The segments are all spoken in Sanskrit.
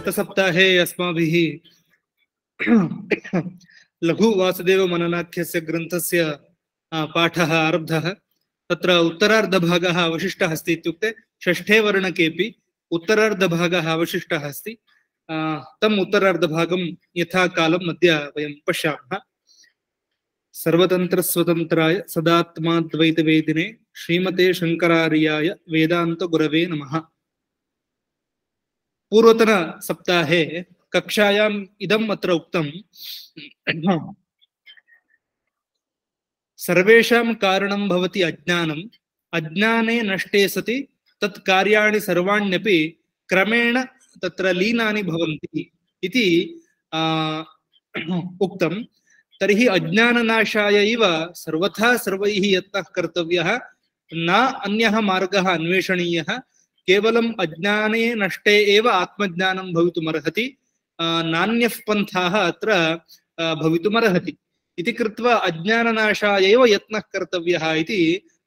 गतसप्ताहे अस्माभिः लघु वासुदेव मननाख्यस्य ग्रन्थस्य पाठः आरब्धः। तत्र उत्तरार्धभागः अवशिष्टः अस्ति, इत्युक्ते षष्ठे वर्णकेपि उत्तरार्धभागः अवशिष्टः अस्ति। तम् उत्तरार्धभागं यथा कालम् अद्य वयं पश्यामः। सर्वतन्त्रस्वतन्त्राय सदात्माद्वैतवेदिने श्रीमते शङ्करार्याय वेदान्तगुरवे नमः। पूर्वतन सप्ताहे कक्षायाम् इदम् अत्र उक्तं, सर्वेषां कारणं भवति अज्ञानम्, अज्ञाने नष्टे सति तत् कार्याणि सर्वाण्यपि क्रमेण तत्र लीनानि भवन्ति इति उक्तं। तर्हि अज्ञाननाशाय एव सर्वथा सर्वैः यत्नः कर्तव्यः, न अन्यः मार्गः अन्वेषणीयः। केवलम् अज्ञाने नष्टे एव आत्मज्ञानं भवितुमर्हति, नान्यः पन्थाः अत्र भवितुमर्हति इति कृत्वा अज्ञाननाशाय एव यत्नः कर्तव्यः इति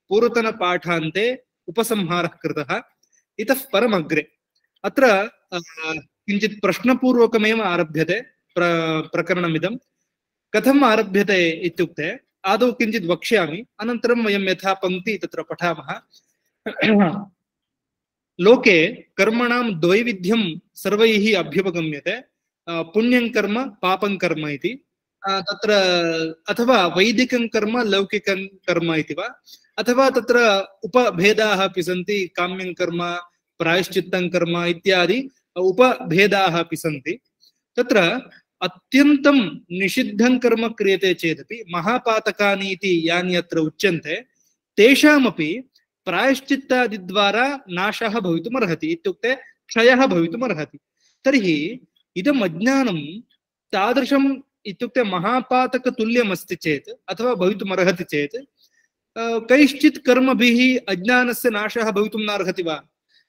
पूर्वतनपाठान्ते उपसंहारः कृतः। इतः परमग्रे अत्र किञ्चित् प्रश्नपूर्वकमेव आरभ्यते प्रकरणमिदं। कथम् आरभ्यते इत्युक्ते आदौ किञ्चित् वक्ष्यामि, अनन्तरं वयं यथा पङ्क्ति तत्र पठामः। लोके कर्मणां द्वैविध्यं सर्वैः अभ्युपगम्यते, पुण्यं कर्म पापं कर्म इति। तत्र अथवा वैदिकं कर्म लौकिकं कर्म इति वा, अथवा तत्र उपभेदाः अपि सन्ति, काम्यं कर्म प्रायश्चित्तं कर्म इत्यादि उपभेदाः अपि सन्ति। तत्र अत्यन्तं निषिद्धं कर्म क्रियते चेदपि महापातकानि इति यानि अत्र उच्यन्ते, तेषामपि प्रायश्चित्तादिद्वारा नाशः भवितुमर्हति, इत्युक्ते क्षयः भवितुमर्हति। तर्हि इदम् अज्ञानं तादृशम् इत्युक्ते महापातकतुल्यमस्ति चेत् अथवा भवितुमर्हति चेत् कैश्चित् कर्मभिः अज्ञानस्य नाशः भवितुं नार्हति वा?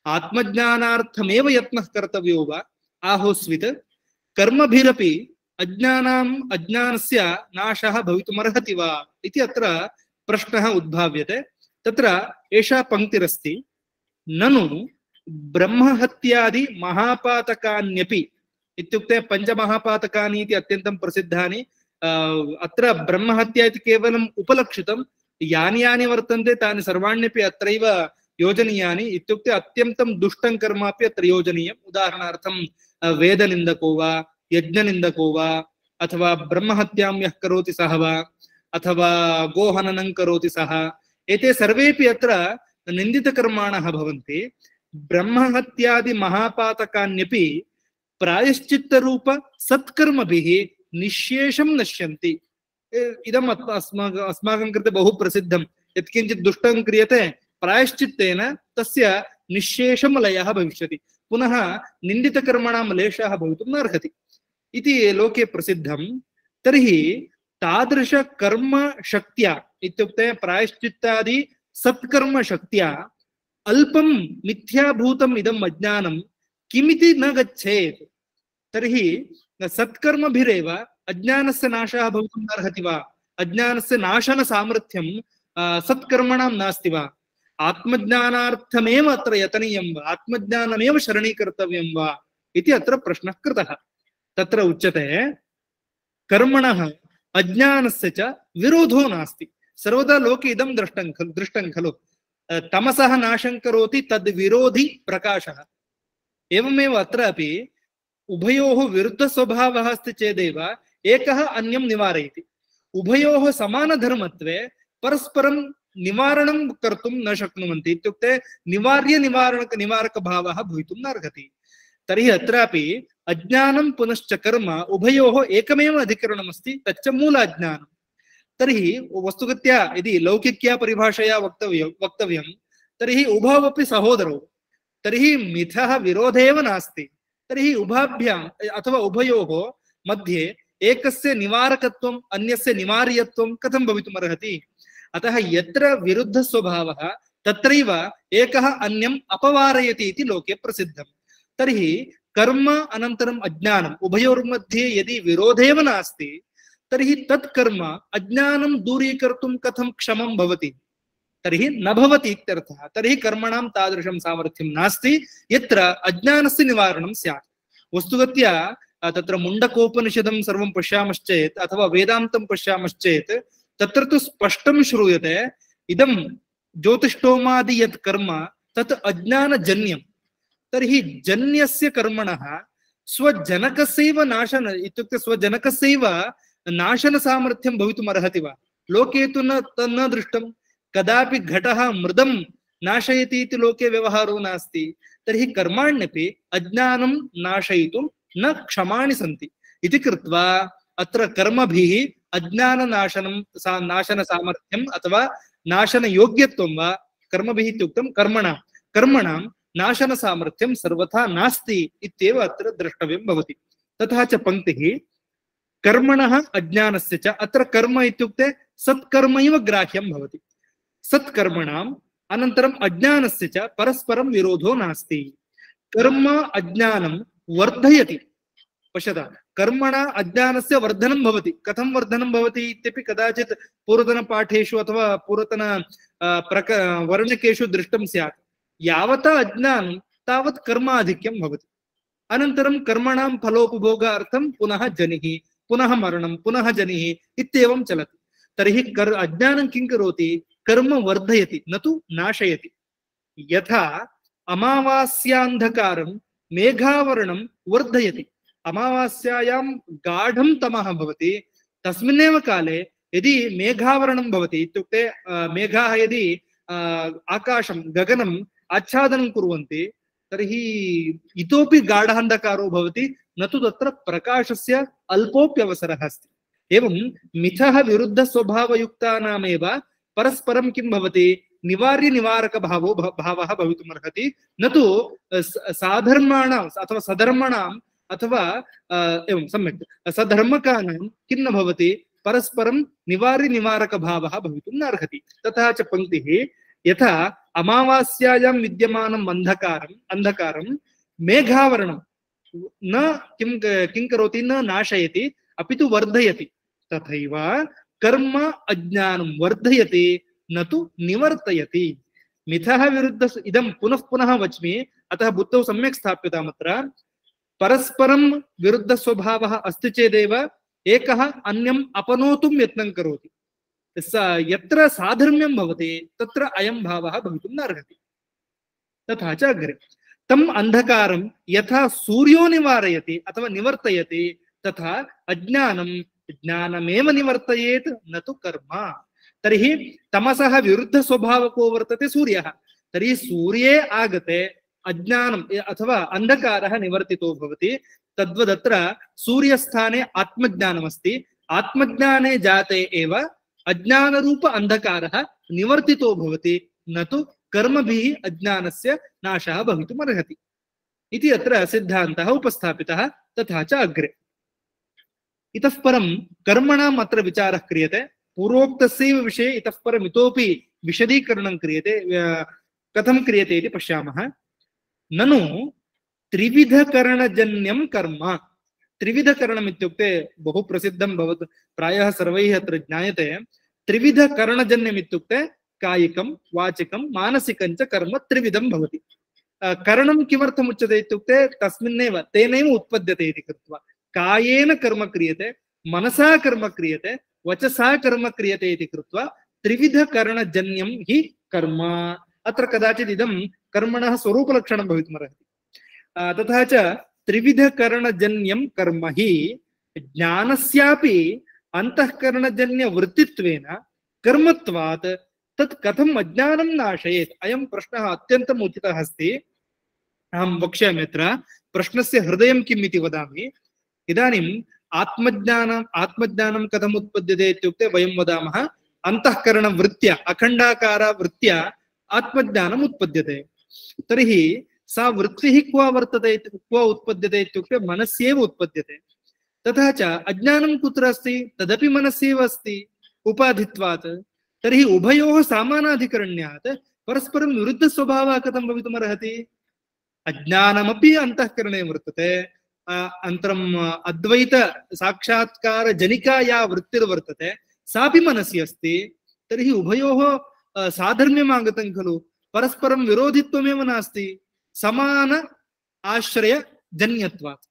आत्मज्ञानार्थमेव यत्नः कर्तव्यो वा आहोस्वित्? कर्मभिरपि अज्ञानस्य नाशः भवितुमर्हति वा इति अत्र प्रश्नः उद्भाव्यते। तत्र एषा पङ्क्तिरस्ति, ननु ब्रह्महत्यादि महापातकान्यपि, इत्युक्ते पञ्चमहापातकानि इति अत्यन्तं प्रसिद्धानि। अत्र ब्रह्महत्या इति केवलम् उपलक्षितं, यानि यानि वर्तन्ते तानि सर्वाण्यपि अत्रैव योजनीयानि। इत्युक्ते अत्यन्तं दुष्टं कर्म अपि अत्र योजनीयम्। उदाहरणार्थं वेदनिन्दको वा, यज्ञनिन्दको वा, अथवा ब्रह्महत्यां यः करोति सः वा, अथवा गोहननं करोति सः, एते सर्वेपि अत्र निन्दितकर्माणः भवन्ति। ब्रह्महत्यादि महापातकान्यपि प्रायश्चित्तरूप सत्कर्मभिः निःशेषं नश्यन्ति। इदम् अस्माकं कृते बहु प्रसिद्धं, यत्किञ्चित् दुष्टं क्रियते प्रायश्चित्तेन तस्य निःशेषं लयः भविष्यति, पुनः निन्दितकर्मणां लेशः भवितुं नार्हति इति लोके प्रसिद्धं। तर्हि तादृशकर्मशक्त्या, इत्युक्ते प्रायश्चित्तादि सत्कर्मशक्त्या अल्पं मिथ्याभूतम् इदम् अज्ञानं किमिति न गच्छेत्। तर्हि सत्कर्मभिरेव अज्ञानस्य नाशः भवितुं नार्हति वा? अज्ञानस्य नाशनसामर्थ्यं सत्कर्मणां नास्ति वा? आत्मज्ञानार्थमेव अत्र यतनीयं वा? आत्मज्ञानमेव शरणीकर्तव्यं वा इति अत्र प्रश्नः कृतः। तत्र उच्यते, कर्मणः अज्ञानस्य च विरोधो नास्ति। सर्वदा लोके इदं दृष्टं खलु, तमसः नाशं करोति तद् विरोधी प्रकाशः। एवमेव अत्रापि उभयोः विरुद्धस्वभावः अस्ति चेदेव एकः अन्यं निवारयति। उभयोः समानधर्मत्वे परस्परं निवारणं कर्तुं न शक्नुवन्ति, इत्युक्ते निवारकभावः भवितुं नार्हति। तर्हि अत्रापि अज्ञानं पुनश्च कर्म उभयोः एकमेव अधिकरणमस्ति, तच्च मूलाज्ञानं। तर्हि वस्तुगत्या यदि लौकिक्या परिभाषया वक्तव्यं तर्हि उभौ अपि सहोदरौ, तर्हि मिथः विरोधेव नास्ति। तर्हि उभाभ्याम् अथवा उभयोः मध्ये एकस्य निवारकत्वम् अन्यस्य निवार्यत्वं कथं भवितुमर्हति? अतः यत्र विरुद्धस्वभावः तत्रैव एकः अन्यम् अपवारयति इति लोके प्रसिद्धं। तर्हि कर्म अनन्तरम् अज्ञानम् उभयोर्मध्ये यदि विरोधेव नास्ति, तर्हि तत् कर्म अज्ञानं दूरीकर्तुं कथं क्षमं भवति? तर्हि न भवति इत्यर्थः। तर्हि कर्मणां तादृशं सामर्थ्यं नास्ति यत्र अज्ञानस्य निवारणं स्यात्। वस्तुगत्या तत्र मुण्डकोपनिषदं सर्वं पश्यामश्चेत् अथवा वेदान्तं पश्यामश्चेत् तत्र तु स्पष्टं श्रूयते इदं ज्योतिष्ठोमादि यत् कर्म तत् अज्ञानजन्यं। तर्हि जन्यस्य कर्मणः स्वजनकस्यैव नाशन इत्युक्ते स्वजनकस्यैव नाशनसामर्थ्यं भवितुमर्हति वा? लोके तु न दृष्टं। कदापि घटः मृदं नाशयति इति लोके व्यवहारो नास्ति। तर्हि कर्माण्यपि अज्ञानं नाशयितुं न क्षमाणि सन्ति इति कृत्वा अत्र कर्मभिः अज्ञाननाशनं नाशनसामर्थ्यम् अथवा नाशनयोग्यत्वं वा कर्मभिः इत्युक्तं कर्मणां नाशनसामर्थ्यं सर्वथा नास्ति इत्येव अत्र द्रष्टव्यं भवति। तथा च पंक्तिः कर्मणः अज्ञानस्य च, अत्र कर्म इत्युक्ते सत्कर्मैव ग्राह्यं भवति। सत्कर्मणाम् अनन्तरम् अज्ञानस्य च परस्परं विरोधो नास्ति। कर्म अज्ञानं वर्धयति। पश्यता, कर्मणा अज्ञानस्य वर्धनं भवति। कथं वर्धनं भवति इत्यपि कदाचित् पूर्वतनपाठेषु अथवा पूर्वतन वर्णकेषु दृष्टं स्यात्। यावता अज्ञानं तावत् कर्माधिक्यं भवति। अनन्तरं कर्मणां फलोपभोगार्थं पुनः जनिः, पुनः मरणं, पुनः जनिः इत्येवं चलति। तर्हि अज्ञानं किं करोति? कर्म वर्धयति, न तु नाशयति। यथा अमावास्यान्धकारं मेघावरणं वर्धयति। अमावास्यायां गाढं तमः भवति, तस्मिन्नेव काले यदि मेघावरणं भवति इत्युक्ते मेघाः यदि आकाशं गगनम् आच्छादनं कुर्वन्ति तर्हि इतोपि गाढान्धकारो भवति, न तु तत्र प्रकाशस्य अल्पोप्यवसरः अस्ति। एवं मिथः विरुद्धस्वभावयुक्तानामेव परस्परं किं भवति? भावः भवितुमर्हति, न तु साधर्माणां अथवा सधर्मणाम् अथवा एवं सम्यक् सधर्मकानां किं न भवति? परस्परं भावः भवितुं नार्हति। तथा च पंक्तिः यथा अमावास्यायां विद्यमानम् अंधकारं मेघावरणं न किं करोति? न नाशयति, अपि तु वर्धयति। तथैव कर्म अज्ञानं वर्धयति, न तु निवर्तयति। मिथः विरुद्ध इदं पुनः पुनः वच्मि, अतः बुद्धौ सम्यक् स्थाप्यतामत्र। परस्परं विरुद्ध स्वभावः अस्ति चेदेव एकः अन्यम् अपनोतुं यत्नं करोति। यत्र साधर्म्यं भवति तत्र अयं भावः भवितुं नार्हति। तथा च अग्रे तम् अंधकारं यथा सूर्यो निवारयति अथवा निवर्तयति तथा ज्ञानमेव निवर्तयेत्, न तु कर्म। तर्हि तमसः विरुद्ध स्वभावको वर्तते सूर्यः। तर्हि सूर्ये आगते अज्ञानम् अथवा अंधकारः निवर्तितो भवति। तद्वदत्र सूर्यस्थाने आत्मज्ञानमस्ति। आत्मज्ञाने जाते एव अज्ञानरूप अंधकारः निवर्तितो भवति, न तु कर्मभिः अज्ञानस्य नाशः भवितुमर्हति इति अत्र सिद्धान्तः उपस्थापितः। तथा च अग्रे इतः परं कर्मणाम् अत्र विचारः क्रियते। पूर्वोक्तस्यैव विषये इतः परम् इतोपि विशदीकरणं क्रियते। कथं क्रियते इति पश्यामः। ननु त्रिविधकरणजन्यं कर्म। त्रिविधकरणम् इत्युक्ते बहु प्रसिद्धं भवति, प्रायः सर्वैः अत्र ज्ञायते। त्रिविधकरणजन्यम् इत्युक्ते कायिकं, वाचिकं, मानसिकं च कर्म त्रिविधं भवति। करणं किमर्थम् उच्यते इत्युक्ते तस्मिन्नेव तेनैव उत्पद्यते इति कृत्वा कायेन कर्म क्रियते, मनसा कर्म क्रियते, वचसा कर्म क्रियते इति कृत्वा त्रिविधकरणजन्यं हि कर्म। अत्र कदाचित् इदं कर्मणः स्वरूपलक्षणं भवितुमर्हति। तथा च त्रिविधकरणजन्यं कर्म हि ज्ञानस्यापि अंतःकरणजन्यवृत्तित्वेन कर्मत्वात् तत् कथम् अज्ञानं नाशयेत्? अयं प्रश्नः अत्यन्तम् उचितः अस्ति। अहं वक्ष्यामि। अत्र प्रश्नस्य हृदयं किम् इति वदामि। इदानीम् आत्मज्ञानं कथम् उत्पद्यते इत्युक्ते वयं वदामः अंतःकरणवृत्त्या, अखण्डाकारवृत्त्या आत्मज्ञानम् उत्पद्यते। तर्हि सा वृत्तिः क्व वर्तते, क्व उत्पद्यते इत्युक्ते मनस्येव उत्पद्यते। तथा च अज्ञानं कुत्र अस्ति? तदपि मनस्येव अस्ति उपाधित्वात्। तर्हि उभयोः समानाधिकरण्यात् परस्परं विरुद्धस्वभावः कथं भवितुमर्हति? अज्ञानमपि अंतःकरणे वर्तते, अनन्तरम् अद्वैत साक्षात्कार जनिका या वृत्तिर्वर्तते सापि मनसि अस्ति। तर्हि उभयोः साधर्म्यम् आगतं खलु, परस्परं विरोधित्वमेव नास्ति, समान आश्रय जन्यत्वात्।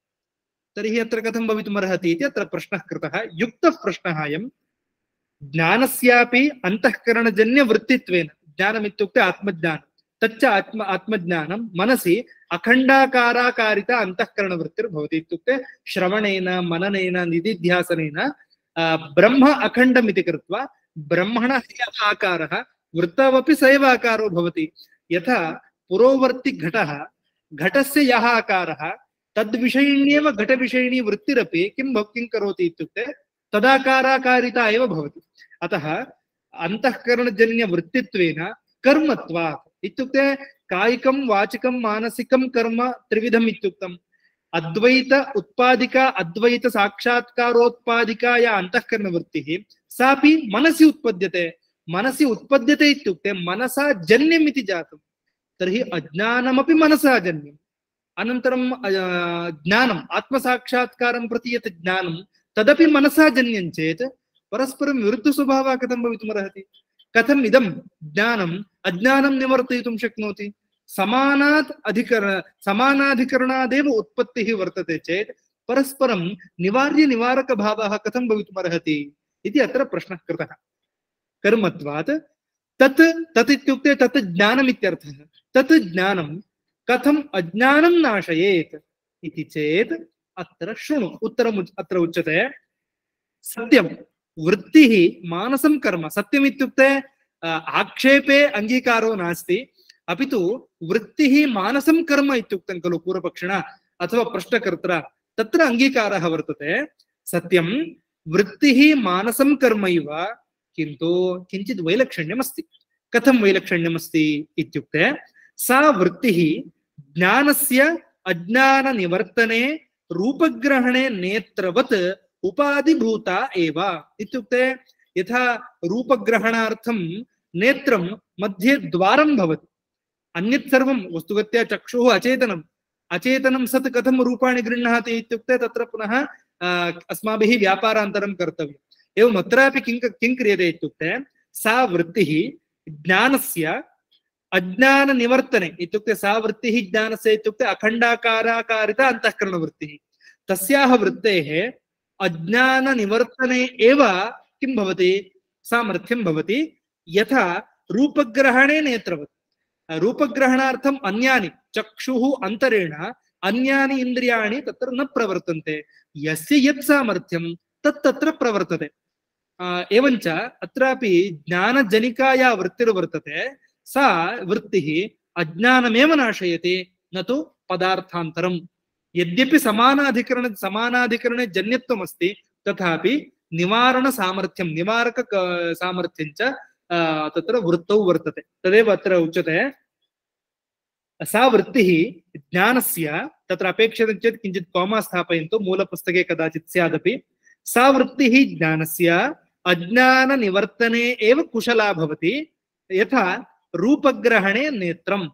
तर्हि अत्र कथं भवितुमर्हति इति अत्र प्रश्नः कृतः। युक्तः प्रश्नः अयं। ज्ञानस्यापि अन्तःकरणजन्यवृत्तित्वेन, ज्ञानमित्युक्ते आत्मज्ञानं, तच्च आत्मज्ञानं मनसि अखण्डाकाराकारिता अन्तःकरणवृत्तिर्भवति। इत्युक्ते श्रवणेन मननेन निदिध्यासनेन ब्रह्म अखण्डमिति कृत्वा ब्रह्मणः यः आकारः वृत्तवपि स एव आकारो भवति। यथा पुरोवर्ति घटः, घटस्य यः आकारः तद्विषयिण्येव घटविषयिणी वृत्तिरपि किं करोति इत्युक्ते तदाकाराकारिता एव भवति। अतः अन्तःकरणजन्यवृत्तित्वेन कर्मत्वात् इत्युक्ते कायिकं वाचिकं मानसिकं कर्म त्रिविधम् इत्युक्तम्। अद्वैत उत्पादिका अद्वैत साक्षात्कारोत्पादिका या अन्तःकरणवृत्तिः सापि मनसि उत्पद्यते। मनसि उत्पद्यते इत्युक्ते मनसा जन्यमिति जातम्। तर्हि अज्ञानमपि मनसा जन्यम्। अनन्तरं ज्ञानम् आत्मसाक्षात्कारं प्रति यत् ज्ञानं तदपि मनसा जन्यं चेत् परस्परं विरुद्धस्वभावः कथं भवितुमर्हति? कथम् इदं ज्ञानम् अज्ञानं निवर्तयितुं शक्नोति? समानाधिकरणादेव उत्पत्तिः वर्तते चेत् परस्परं निवार्यनिवारकभावः कथं भवितुमर्हति इति अत्र प्रश्नः कृतः। कर्मत्वात् तत् इत्युक्ते तत् ज्ञानमित्यर्थः। तत् ज्ञानं कथम् अज्ञानं नाशयेत् इति चेत् अत्र शृणु उत्तरम् अत्र उच्यते। सत्यं वृत्तिः मानसं कर्म। सत्यम् इत्युक्ते आक्षेपे अङ्गीकारो नास्ति, अपि तु वृत्तिः मानसं कर्म इत्युक्तं खलु पूर्वपक्षिणा अथवा प्रश्नकर्त्रा, तत्र अङ्गीकारः वर्तते। सत्यं वृत्तिः मानसं कर्म इव, किन्तु किञ्चित् वैलक्षण्यमस्ति। कथं वैलक्षण्यमस्ति इत्युक्ते सा वृत्तिः ज्ञानस्य अज्ञाननिवर्तने रूपग्रहणे नेत्रवत् उपाधिभूता एव। इत्युक्ते यथा रूपग्रहणार्थं नेत्रं मध्ये द्वारं भवति, अन्यत् सर्वं वस्तुगत्या चक्षुः अचेतनम्। अचेतनं सत् कथं रूपाणि गृह्णाति इत्युक्ते तत्र पुनः अस्माभिः व्यापारान्तरं कर्तव्यम्। एवम् अत्रापि किं क्रियते इत्युक्ते सा वृत्तिः ज्ञानस्य अज्ञाननिवर्तने इत्युक्ते सा वृत्तिः ज्ञानस्य इत्युक्ते अखण्डाकाराकारिता अन्तःकरणवृत्तिः, तस्याः वृत्तेः अज्ञाननिवर्तने एव किं भवति? सामर्थ्यं भवति। यथा रूपग्रहणे नेत्रवत्, रूपग्रहणार्थम् अन्यानि चक्षुः अन्तरेण अन्यानि इन्द्रियाणि तत्र न प्रवर्तन्ते, यस्य यत् सामर्थ्यं तत् तत्र प्रवर्तते। एवञ्च अत्रापि ज्ञानजनिका या वृत्तिर्वर्तते सा वृत्तिः अज्ञानमेव नाशयति, न तु पदार्थान्तरम्। यद्यपि समानाधिकरणे जन्यत्वमस्ति, तथापि निवारणसामर्थ्यं निवारक सामर्थ्यं च तत्र वृत्तौ वर्तते। तदेव अत्र उच्यते। सा वृत्तिः ज्ञानस्य, तत्र अपेक्षितं चेत् किञ्चित् कौमा स्थापयन्तु, मूलपुस्तके कदाचित् स्यादपि। सा वृत्तिः ज्ञानस्य अज्ञाननिवर्तने एव कुशला भवति, यथा रूपग्रहणे नेत्रम्।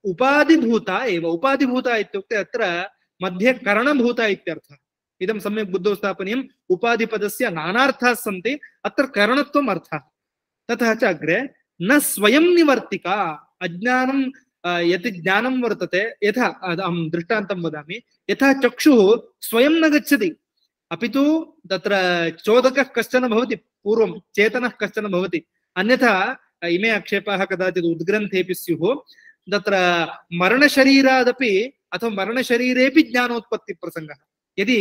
उपाधिभूता एव। उपाधिभूता इत्युक्ते अत्र मध्ये करणभूता इत्यर्थः। इदं सम्यक् बुद्धौ स्थापनीयम्। उपाधिपदस्य नानार्थाः सन्ति, अत्र करणत्वम् अर्थः। ततः च अग्रे न स्वयं निवर्तिका। अज्ञानं यत् ज्ञानं वर्तते, यथा अहं दृष्टान्तं वदामि, यथा चक्षुः स्वयं न गच्छति, अपि तु तत्र चोदकः कश्चन भवति, पूर्वं चेतनः कश्चन भवति। अन्यथा इमे आक्षेपाः कदाचित् उद्ग्रन्थेऽपि स्युः। तत्र मरणशरीरादपि अथवा मरणशरीरेऽपि ज्ञानोत्पत्तिप्रसङ्गः। यदि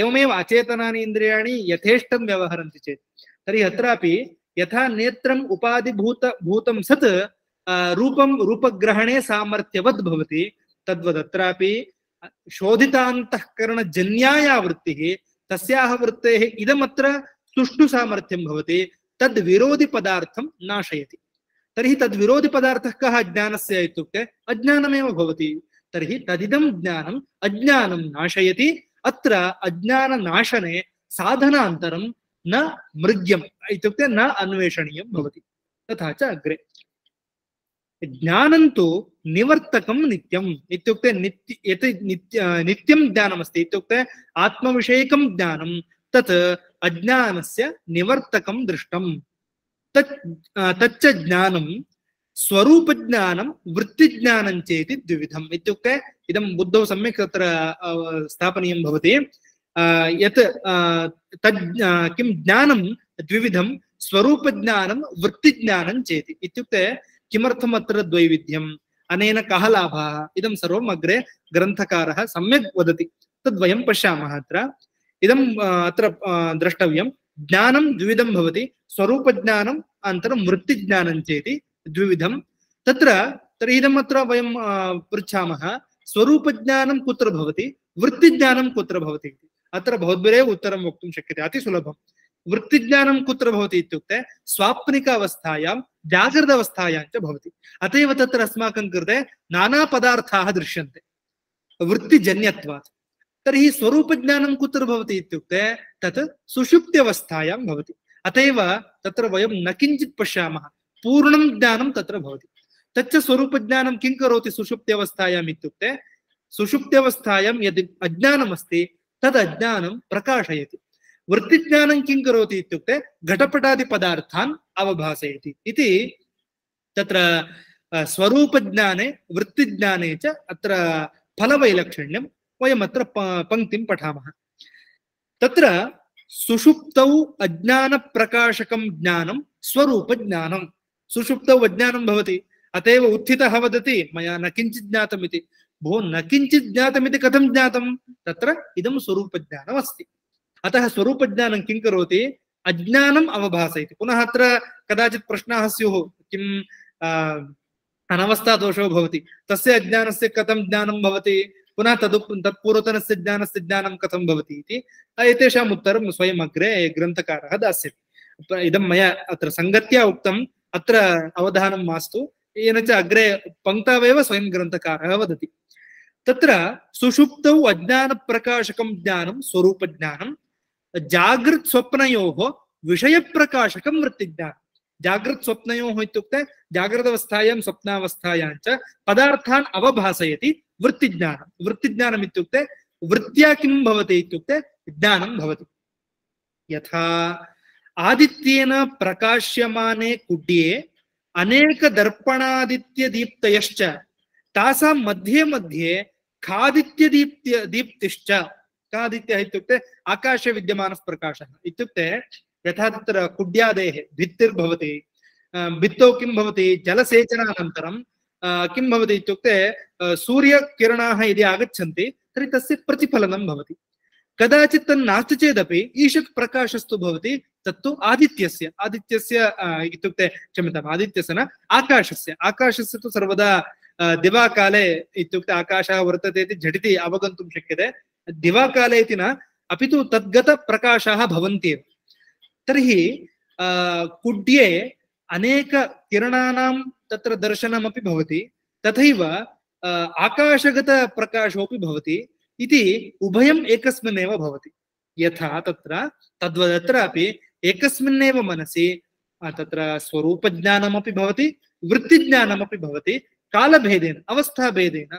एवमेव अचेतनानि इन्द्रियाणि यथेष्टं व्यवहरन्ति चेत्, तर्हि अत्रापि यथा नेत्रम् उपाधिभूतं सत् रूपं रूपग्रहणे सामर्थ्यवद् भवति, तद्वदत्रापि शोधितान्तःकरणजन्याया वृत्तिः तस्याः वृत्तेः इदमत्र सुष्ठु सामर्थ्यं भवति, तद् विरोधि पदार्थं नाशयति। तर्हि तद् विरोधि पदार्थः कः ज्ञानस्य इत्युक्ते अज्ञानमेव भवति। तर्हि तदिदं ज्ञानम् अज्ञानं नाशयति। अत्र अज्ञाननाशने साधनान्तरं न मृग्यम् इत्युक्ते न अन्वेषणीयं भवति। तथा च अग्रे ज्ञानं तु निवर्तकं नित्यम् इत्युक्ते नित्यं ज्ञानमस्ति इत्युक्ते आत्मविषयकं ज्ञानं, तत् अज्ञानस्य निवर्तकं दृष्टम्। तच्च ज्ञानं स्वरूपज्ञानं वृत्तिज्ञानं चेति द्विविधम् इत्युक्ते इदं बुद्धौ सम्यक् तत्र स्थापनीयं भवति यत् तद् किं ज्ञानं द्विविधं स्वरूपज्ञानं वृत्तिज्ञानं चेति इत्युक्ते किमर्थम् अत्र द्वैविध्यम् अनेन कः लाभः इदं सर्वम् अग्रे ग्रन्थकारः सम्यक् वदति तद्वयं पश्यामः अत्र इदम् अत्र द्रष्टव्यं ज्ञानं द्विविधं भवति स्वरूपज्ञानम् अनन्तरं वृत्तिज्ञानं चेति द्विविधं तत्र तर्हि इदम् अत्र वयं पृच्छामः स्वरूपज्ञानं कुत्र भवति वृत्तिज्ञानं कुत्र भवति इति अत्र भवद्भिरेव उत्तरं वक्तुं शक्यते अतिसुलभं वृत्तिज्ञानं कुत्र भवति इत्युक्ते स्वाप्निक अवस्थायां जागृत अवस्थायां च भवति अत एव तत्र अस्माकं कृते नाना पदार्थाः दृश्यन्ते वृत्तिजन्यत्वात् तर्हि स्वरूपज्ञानं कुत्र भवति इत्युक्ते तत् सुषुप्त्यवस्थायां भवति अत एव तत्र वयं न किञ्चित् पश्यामः पूर्णं ज्ञानं तत्र भवति तच्च स्वरूपज्ञानं किं करोति सुषुप्त्यवस्थायाम् इत्युक्ते सुषुप्त्यवस्थायां यद् अज्ञानमस्ति तद् अज्ञानं प्रकाशयति वृत्तिज्ञानं किं करोति इत्युक्ते घटपटादिपदार्थान् अवभासयति इति तत्र स्वरूपज्ञाने वृत्तिज्ञाने च अत्र फलवैलक्षण्यं वयमत्र पङ्क्तिं पठामः तत्र सुषुप्तौ अज्ञानप्रकाशकं ज्ञानं स्वरूपज्ञानं सुषुप्तौ अज्ञानं भवति अतएव उत्थितः वदति मया न किञ्चित् ज्ञातम् इति भो न किञ्चित् ज्ञातमिति कथं ज्ञातं तत्र इदं स्वरूपज्ञानम् अस्ति अतः स्वरूपज्ञानं किं करोति अज्ञानम् अवभासयति पुनः अत्र कदाचित् प्रश्नाः स्युः किं अनवस्थादोषो भवति तस्य अज्ञानस्य कथं ज्ञानं भवति पुनः तत्पूर्वतनस्य ज्ञानस्य ज्ञानं कथं भवति इति एतेषाम् उत्तरं स्वयम् अग्रे ग्रन्थकारः दास्यति इदं मया अत्र सङ्गत्या उक्तम् अत्र अवधानं मास्तु येन च अग्रे पङ्क्तावेव स्वयं ग्रन्थकारः वदति तत्र सुषुप्तौ अज्ञानप्रकाशकं ज्ञानं स्वरूपज्ञानं जागृत् स्वप्नयोः विषयप्रकाशकं वृत्तिज्ञानं जागृत् स्वप्नयोः इत्युक्ते जागृतावस्थायां स्वप्नावस्थायां च पदार्थान् अवभासयति वृत्तिज्ञानं वृत्तिज्ञानम् इत्युक्ते वृत्त्या किं भवति इत्युक्ते ज्ञानं भवति यथा आदित्येन प्रकाश्यमाने कुड्ये अनेक दर्पणादित्यदीप्तयश्च तासां मध्ये मध्ये खादित्यदीप्तिश्च खादित्यः इत्युक्ते आकाशे विद्यमानः प्रकाशः इत्युक्ते यथा तत्र कुड्यादेः भित्तिर्भवति भित्तौ किं भवति जलसेचनानन्तरं किं भवति इत्युक्ते सूर्यकिरणाः यदि आगच्छन्ति तर्हि तस्य प्रतिफलनं भवति कदाचित् तन्नास्ति चेदपि ईषत् प्रकाशस्तु भवति तत्तु आदित्यस्य इत्युक्ते क्षम्यताम् आदित्यस्य न आकाशस्य तु सर्वदा दिवाकाले इत्युक्ते आकाशः वर्तते इति झटिति अवगन्तुं शक्यते दिवाकाले इति न अपि तु तद्गतप्रकाशाः भवन्त्येव तर्हि कुड्ये अनेक किरणानां तत्र दर्शनमपि भवति तथैव आकाशगतप्रकाशोऽपि भवति इति उभयम् एकस्मिन्नेव भवति यथा तत्र तद्वदत्रापि एकस्मिन्नेव मनसि तत्र स्वरूपज्ञानमपि भवति वृत्तिज्ञानमपि भवति कालभेदेन अवस्थाभेदेन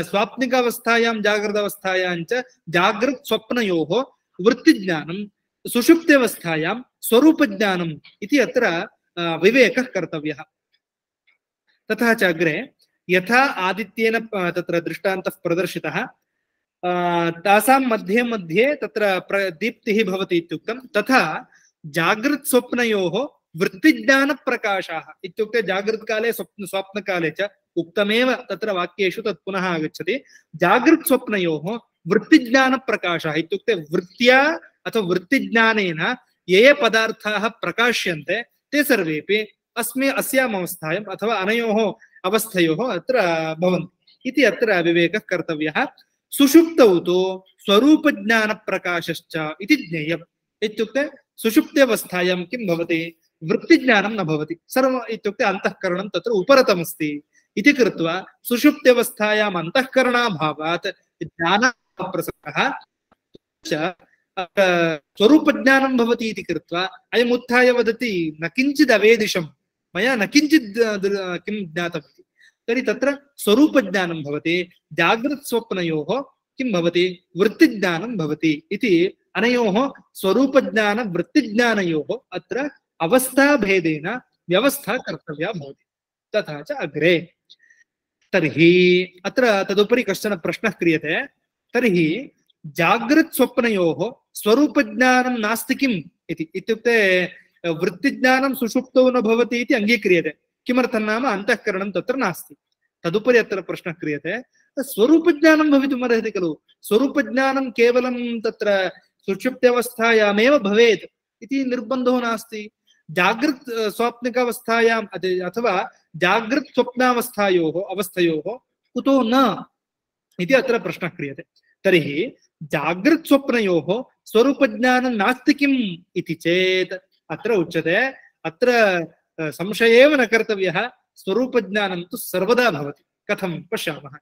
स्वाप्निकावस्थायां जागृतावस्थायां च जागृत् स्वप्नयोः वृत्तिज्ञानं सुषुप्त्यवस्थायां स्वरूपज्ञानम् इति अत्र विवेकः कर्तव्यः तथा च अग्रे यथा आदित्येन तत्र दृष्टान्तः प्रदर्शितः तासां मध्ये मध्ये तत्र दीप्तिः भवति इत्युक्तं तथा जागृत् स्वप्नयोः वृत्तिज्ञानप्रकाशाः इत्युक्ते जागृत्काले स्वप्नकाले च उक्तमेव तत्र वाक्येषु तत् पुनः आगच्छति जागृत् स्वप्नयोः वृत्तिज्ञानप्रकाशः इत्युक्ते वृत्त्या अथवा वृत्तिज्ञानेन ये ये पदार्थाः प्रकाश्यन्ते ते सर्वेपि अस्याम् अवस्थायाम् अथवा अनयोः अवस्थयोः अत्र भवन्ति इति अत्र विवेकः कर्तव्यः सुषुप्तौ तु स्वरूपज्ञानप्रकाशश्च इति ज्ञेयम् इत्युक्ते सुषुप्त्यवस्थायां किं भवति वृत्तिज्ञानं न भवति सर्वम् इत्युक्ते अन्तःकरणं तत्र उपरतमस्ति इति कृत्वा सुषुप्त्यवस्थायाम् अन्तःकरणाभावात् ज्ञानप्रसक्तः च स्वरूपज्ञानं भवति इति कृत्वा अयम् उत्थाय वदति न किञ्चित् अवेदिशं मया न किञ्चित् किं ज्ञातमिति तर्हि तत्र स्वरूपज्ञानं भवति जागृत् स्वप्नयोः किं भवति वृत्तिज्ञानं भवति इति अनयोः स्वरूपज्ञान वृत्तिज्ञानयोः अत्र अवस्थाभेदेन व्यवस्था कर्तव्या भवति तथा च अग्रे। तर्हि अत्र तदुपरि कश्चन प्रश्नः क्रियते। तर्हि जागृत् स्वप्नयोः स्वरूपज्ञानं नास्ति किम् इति। इत्युक्ते वृत्तिज्ञानं सुषुप्तौ न भवति इति अङ्गीक्रियते। किमर्थं नाम अन्तःकरणं तत्र नास्ति। तदुपरि अत्र प्रश्नः क्रियते, स्वरूपज्ञानं भवितुमर्हति खलु, स्वरूपज्ञानं केवलं तत्र सुषुप्त्यवस्थायामेव भवेत् इति निर्बन्धो नास्ति। जागृत् स्वाप्निकावस्थायाम् अथवा जागृत् स्वप्नावस्थायोः अवस्थयोः कुतो न इति अत्र प्रश्नः क्रियते। तर्हि जागृत् स्वप्नयोः स्वरूपज्ञानं नास्ति किम् इति चेत् अत्र उच्यते, अत्र संशयेव न कर्तव्यः, स्वरूपज्ञानं तु सर्वदा भवति। कथं पश्यामः।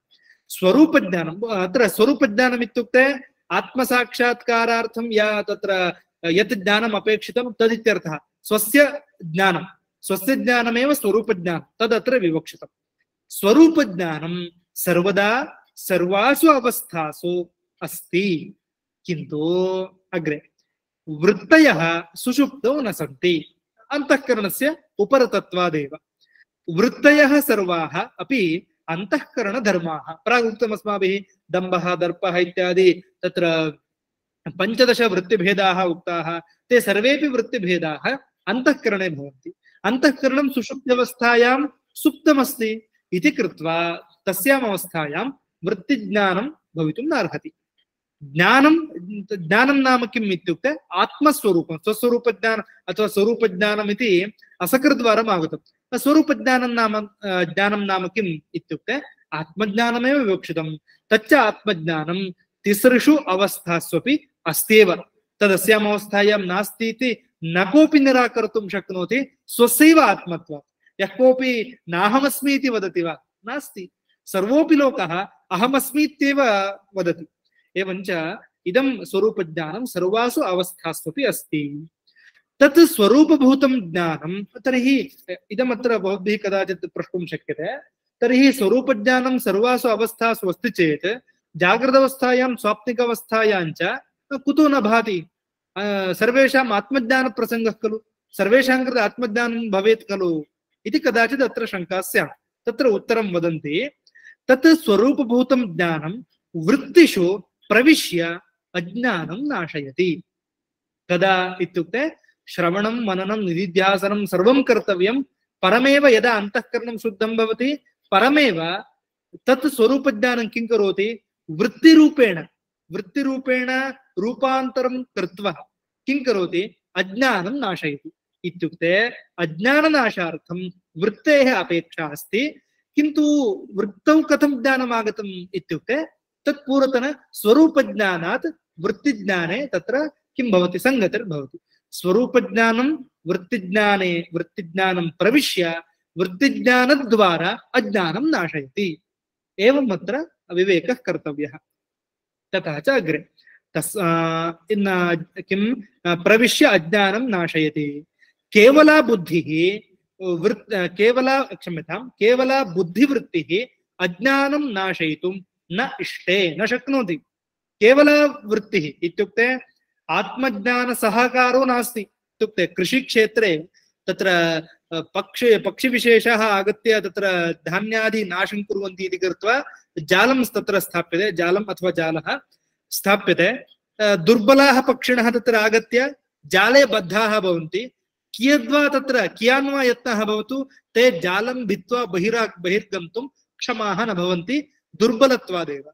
स्वरूपज्ञानम्, अत्र स्वरूपज्ञानम् इत्युक्ते आत्मसाक्षात्कारार्थं या तत्र यत् ज्ञानम् अपेक्षितं तदित्यर्थः। स्वस्य ज्ञानमेव स्वरूपज्ञानं, तदत्र विवक्षितम्। स्वरूपज्ञानं सर्वदा सर्वासु अवस्थासु अस्ति, किन्तु अग्रे वृत्तयः सुषुप्तौ न सन्ति, अन्तःकरणस्य उपरतत्वादेव। वृत्तयः सर्वाः अपि अन्तःकरणधर्माः। प्रागुक्तमस्माभिः दम्भः दर्पः इत्यादि तत्र 15 वृत्तिभेदाः उक्ताः। ते सर्वेपि वृत्तिभेदाः अन्तःकरणे भवन्ति। अन्तःकरणं सुषुप्त्यवस्थायां सुप्तमस्ति इति कृत्वा तस्याम् अवस्थायां वृत्तिज्ञानं भवितुं नार्हति। ज्ञानं नाम किम् इत्युक्ते आत्मस्वरूपं, स्वस्वरूपज्ञानं अथवा स्वरूपज्ञानम् इति असकृद्वारम् आगतम्। स्वरूपज्ञानं नाम किम् इत्युक्ते आत्मज्ञानमेव विवक्षितं। तच्च आत्मज्ञानं तिसृषु अवस्थास्वपि अस्त्येव। तदस्याम् अवस्थायां नास्ति इति न कोऽपि निराकर्तुं शक्नोति स्वस्यैव आत्मत्वात्। यः कोऽपि नाहमस्मि इति वदति वा? नास्ति। सर्वोऽपि लोकः अहमस्मि इत्येव वदति। एवञ्च इदं स्वरूपज्ञानं सर्वासु अवस्थास्वपि अस्ति। तत् स्वरूपभूतं ज्ञानं, तर्हि इदमत्र भवद्भिः कदाचित् प्रष्टुं शक्यते, तर्हि स्वरूपज्ञानं सर्वासु अवस्थासु अस्ति चेत् जागृतावस्थायां स्वाप्निकावस्थायां च कुतो न भाति? सर्वेषाम् आत्मज्ञानप्रसङ्गः खलु, सर्वेषां कृते आत्मज्ञानं भवेत् खलु इति कदाचित् अत्र शङ्का स्यात्। तत्र उत्तरं वदन्ति, तत् स्वरूपभूतं ज्ञानं वृत्तिषु प्रविश्य अज्ञानं नाशयति। कदा इत्युक्ते श्रवणं मननं निधिध्यासनं सर्वं कर्तव्यं, परमेव यदा अन्तःकरणं शुद्धं भवति परमेव तत् स्वरूपज्ञानं किं करोति? वृत्तिरूपेण रूपान्तरं कृत्वा किं करोति? अज्ञानं नाशयति। इत्युक्ते अज्ञाननाशार्थं वृत्तेः अपेक्षा अस्ति। किन्तु वृत्तौ कथं ज्ञानम् आगतम् इत्युक्ते तत्पूर्वतन स्वरूपज्ञानात् वृत्तिज्ञाने तत्र किं भवति? संगतिर्भवति। स्वरूपज्ञानं वृत्तिज्ञानं प्रविश्य वृत्तिज्ञानद्वारा अज्ञानं नाशयति। एवम् अत्र विवेकः कर्तव्यः। तथा च अग्रे किं प्रविश्य अज्ञानं नाशयति। केवला बुद्धिवृत्तिः अज्ञानं नाशयितुं न इष्टे न शक्नोति। केवला वृत्तिः इत्युक्ते आत्मज्ञान सहकारो नास्ति। इत्युक्ते कृषिक्षेत्रे तत्र पक्षिविशेषाः आगत्य तत्र धान्यादि नाशं कुर्वन्ति इति कृत्वा जालं तत्र स्थाप्यते, जालम् अथवा जालः स्थाप्यते। दुर्बलाः पक्षिणः तत्र आगत्य जाले बद्धाः भवन्ति। कियान्वा यत्नः भवतु, ते जालं भित्त्वा बहिर्गन्तुं क्षमाः न भवन्ति, दुर्बलत्वादेव।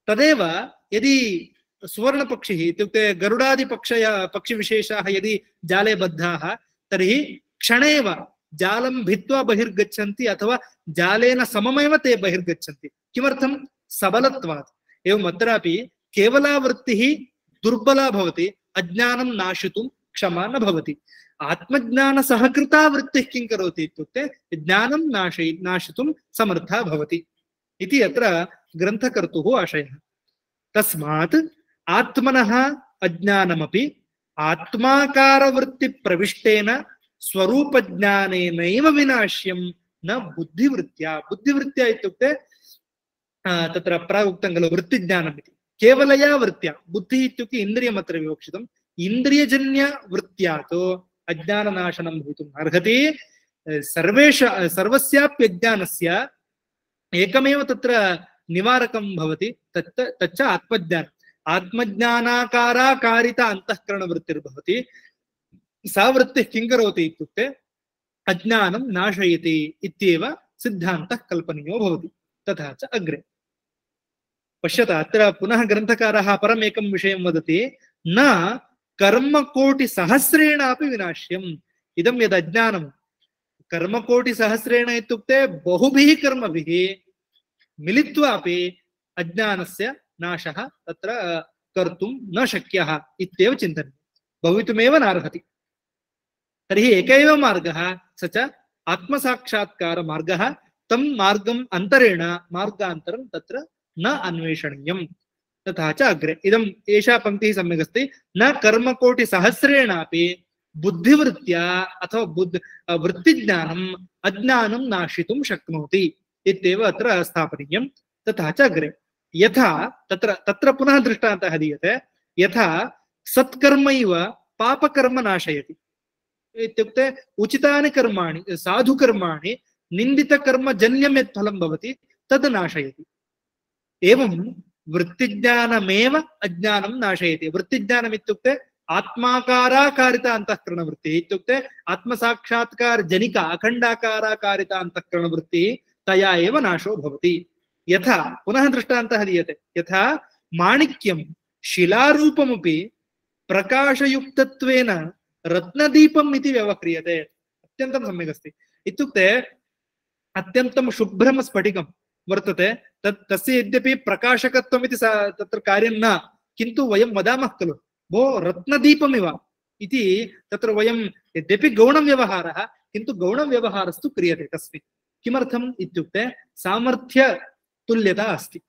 तदेव यदि सुवर्णपक्षिः इत्युक्ते पक्षिविशेषाः यदि जाले बद्धाः तर्हि क्षणेव जालं भित्त्वा बहिर्गच्छन्ति अथवा जालेन सममेव ते बहिर्गच्छन्ति। किमर्थं? सबलत्वात्। एवम् अत्रापि केवला वृत्तिः दुर्बला भवति, अज्ञानं नाशितुं क्षमा न भवति। आत्मज्ञानसहकृता वृत्तिः किं करोति इत्युक्ते ज्ञानं नाशितुं समर्था भवति इति अत्र ग्रन्थकर्तुः आशयः। तस्मात् आत्मनः अज्ञानमपि आत्माकारवृत्तिप्रविष्टेन स्वरूपज्ञानेनैव विनाश्यं न बुद्धिवृत्त्या। बुद्धिवृत्त्या इत्युक्ते तत्र प्रागुक्तं खलु वृत्तिज्ञानम् इति। केवलया वृत्त्या, बुद्धिः इत्युक्ते इन्द्रियमत्र विवक्षितम्। इन्द्रियजन्यवृत्त्या तु अज्ञाननाशनं भवितुम् अर्हति। सर्वस्याप्यज्ञानस्य एकमेव तत्र निवारकं भवति, तच्च आत्मज्ञानम्। आत्मज्ञानाकाराकारिता अंतःकरणवृत्तिर्भवति। सा वृत्तिः किं करोति इत्युक्ते अज्ञानं नाशयति इत्येव सिद्धान्तः कल्पनीयो भवति। तथा च अग्रे पश्यत, अत्र पुनः ग्रन्थकारः परमेकं विषयं वदति, न कर्मकोटिसहस्रेणापि विनाश्यम्। इदं यद् अज्ञानं कर्मकोटिसहस्रेण इत्युक्ते बहुभिः कर्मभिः मिलित्वापि अज्ञानस्य नाशः तत्र कर्तुं न शक्यः इत्येव चिन्तनीयं, भवितुमेव नार्हति। तर्हि एक एव मार्गः, स च आत्मसाक्षात्कारमार्गः। तं मार्गम् अन्तरेण मार्गान्तरं तत्र न अन्वेषणीयम्। तथा च अग्रे इदम् एषा पङ्क्तिः सम्यक् अस्ति, न कर्मकोटिसहस्रेणापि बुद्धिवृत्त्या अथवा वृत्तिज्ञानम् अज्ञानं नाशितुं शक्नोति इत्येव अत्र स्थापनीयम्। तथा च अग्रे यथा तत्र पुनः दृष्टान्तः दीयते, यथा सत्कर्मैव पापकर्म नाशयति इत्युक्ते उचितानि कर्माणि साधुकर्माणि निन्दितकर्मजन्यं यत् फलं भवति तद् नाशयति। एवं वृत्तिज्ञानमेव अज्ञानं नाशयति। वृत्तिज्ञानम् इत्युक्ते आत्माकाराकारिता अंतःकरणवृत्तिः इत्युक्ते आत्मसाक्षात्कारजनिका अखण्डाकाराकारिता अंतःकरणवृत्तिः, तया एव नाशो भवति। यथा पुनः दृष्टान्तः दीयते, यथा माणिक्यं शिलारूपमपि प्रकाशयुक्तत्वेन रत्नदीपम् इति व्यवह्रियते। अत्यन्तं सम्यक् अस्ति। इत्युक्ते अत्यन्तं शुभ्रं स्फटिकं वर्तते, तस्य यद्यपि प्रकाशकत्वमिति तत्र कार्यं न, किन्तु वयं वदामः खलु भो रत्नदीपमिव इति। तत्र वयं यद्यपि गौणव्यवहारः, किन्तु गौणव्यवहारस्तु क्रियते तस्मिन्। किमर्थम् इत्युक्ते सामर्थ्यतुल्यता अस्ति।